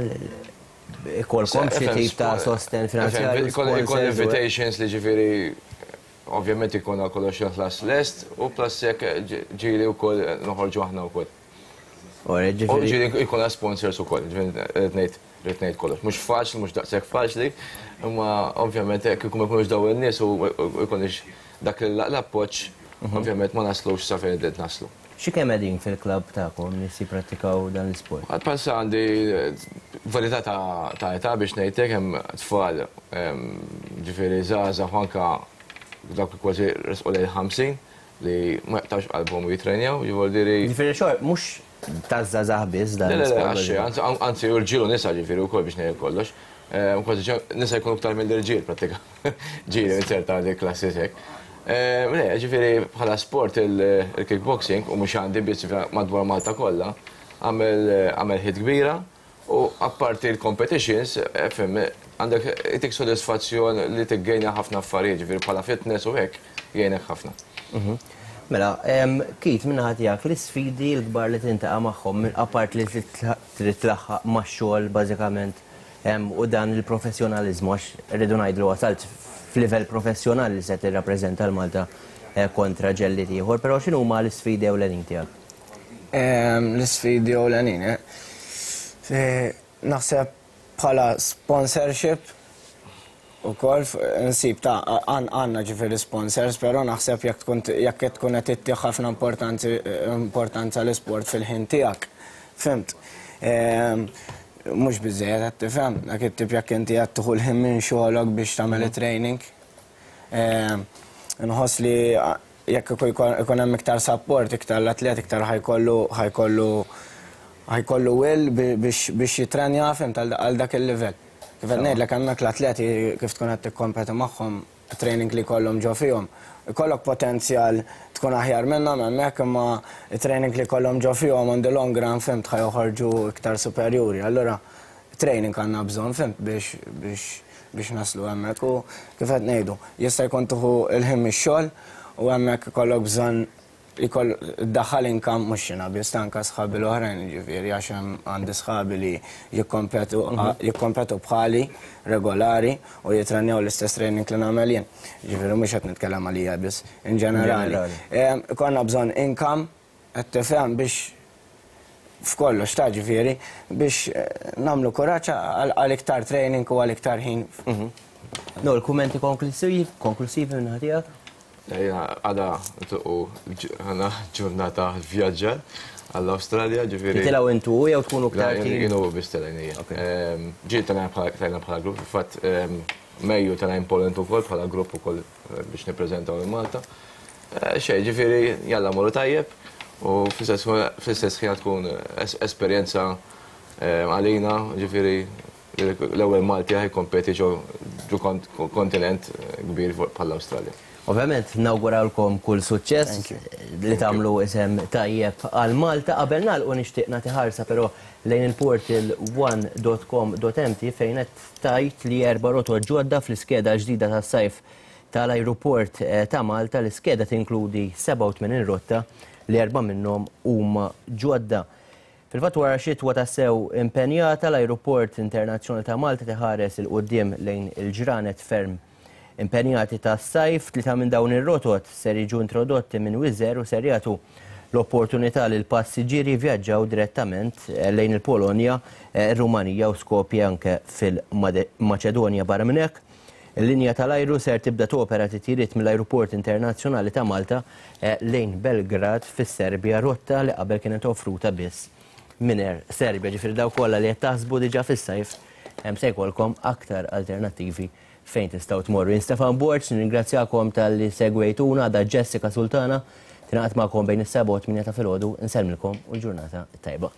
ikolkom xi tip ta' sosten finanzjarju. Ikun invitations li ġifieri ovvjament ikun kollox ħlas lest u plus jekk ġieli wkoll noħorġu aħna wkoll. U ġieli jkun sponsors ukoll, ġifieri rrid ngħid rrid ngħid kollox. Mhux faċli, mhux daqshekk faċli, imma ovvjament jekk ikun ma jkunux dawn in-nies u jkunx dak l-appoġġ, ovvjament ma naslux sa fejn qed naslu. Xi kemm qegħdin fil-klabb tagħkom nies jipprattikaw dan l-isport? Għad bħalissa għandi varjetà ta' età biex ngħidlek, hemm tfal ġifieri żgħażagħ u anke dawk li kważi resqu lejn ħamsin li ma jaqtawx qalbhom u jitrenjaw, jiġifieri diri. Ġifieri xor, mhux taż-żgħażagħ biss dan. Le, le, għax, anzi rġiel u nisa ġifieri wkoll biex ngħid kollox. Kważi nisa jkunu iktar mill-irġiel prattika. Ġieli inserta dik klassi hekk. Le, ġifieri bħala sport il-kickboxing u mhux għandi biss madwar Malta kollha, għamel ħid kbira u apparti l-competitions, fim, għandek itik sodisfazzjon li tiggejna ħafna affarijiet, ġifieri bħala fitness u hekk jgħinek ħafna. Mela, Keith, minna tiegħek l-isfidi l-kbar li tintaqa' magħhom, apart li trid tlaħħaq max-xogħol bażikament u dan il-professjonaliżmu, għax rridu ngħidlu wasalt f'livell professjonali li se tirrappreżenta l-Malta kontra ġellied ieħor, però x'inhuma l-isfidi ewlenin tiegħek? L-isfidi ewlenin, naħseb bħala sponsorship ukoll nsib ta' għandna ġifieri sponsors, però naħseb jekk tkun jekk tkun qed ittih ħafna importanza l-isport fil-ħin tiegħek. Fimt? Mhux biżejjed qed tifhem, dak it-tip jekk inti qed tieħu l-ħin minn xogħolok biex tagħmel training. Nħoss li jekk ikun hemm iktar support, iktar l-atlet iktar ħajkollu ħajkollu ħajkollu will biex jitrenja, fimt, għal dak il-livell. Kif qed ngħidlek hemmhekk l-atleti kif tkun qed tikkompeti magħhom, training li jkollhom ġo fihom. Ikollok potenzjal tkun aħjar minnhom hemmhekk, imma training li jkollhom ġo fihom on the long run, fimt, ħa joħorġu iktar superjuri. Allura training għandna bżonn, fimt, biex biex biex naslu hemmhekk u kif qed ngħidu, jista' jkun tieħu l-ħin mix-xogħol u hemmhekk ikollok bżonn ikoll daħal income mhux xina biss anke sħabi l-oħrajn, ġifieri għax hemm għandi sħabi li jikkompetu jikkompetu bħali regolari u jitrenjaw l-istess training li nagħmel jien. Ġifieri mhux qed nitkellem għalija biss, in ġenerali. Ikollna bżonn income qed tifhem biex f'kollox ta' ġifieri biex nagħmlu kuraġġ għal iktar training u għal iktar ħin. No, l-kummenti konklusivi konklusivi minn naħa tiegħek? Ejja, għada u għana ġurnata vjaġġar għall-Awstralja, ġifieri. Titilgħu intu jew tkunu ktar tim? Jien u biss telgħin hija. Ġieli telgħin bħala grupp, fil-fatt Mejju telgħin Poland ukoll bħala grupp ukoll biex nippreżentaw lil Malta. Xejn, ġifieri jalla morru tajjeb u fl-istess ħin tkun esperjenza Għalina, ġifieri l-ewwel Malti ħa jikkompeti ġo kontinent kbir bħall-Awstralja. Ovvjament nawguralkom kull suċċess li tagħmlu isem tajjeb għal Malta. Qabel nagħlqu nixtieq nagħti ħarsa però lejn il-portal one dot com dot m t fejn qed tgħid li erba' rotot ġodda fl-iskeda ġdida tas-sajf tal-ajruport ta' Malta. L-iskeda tinkludi sebgħa u tmenin rotta li erba' minnhom huma ġodda. Fil-fatt wara xitwa tassew impenjata, l-Ajruport Internazzjonali ta' Malta tiħares il-quddiem lejn il-ġranet ferm impenjati tas-sajf. Tlieta minn dawn ir-rotot ser jiġu introdotti minn Wizz Air u ser jagħtu l-opportunità lil passiġġieri jivvjaġġaw direttament lejn il-Polonja, ir-Rumanija u Skopje anke fil-Maċedonja. Barra minn hekk, il-linja tal-ajru ser tibda topera titjiriet mill-Ajruport Internazzjonali ta' Malta lejn Belgrad fis-Serbja, rotta li qabel kienet offruta biss minn Air Serbia. Ġifieri dawk kollha li qed taħsbu diġà fis-sajf hemm se jkollkom aktar alternattivi fejn tistgħu tmorru. Jien Stefan Borg, nirringrazzjakom talli segwejtuna. Għada Jessica Sultana tingħaqad magħkom bejn is-sebgħa u t-tmienja ta' filgħodu. Insellmilkom u l-ġurnata tajba.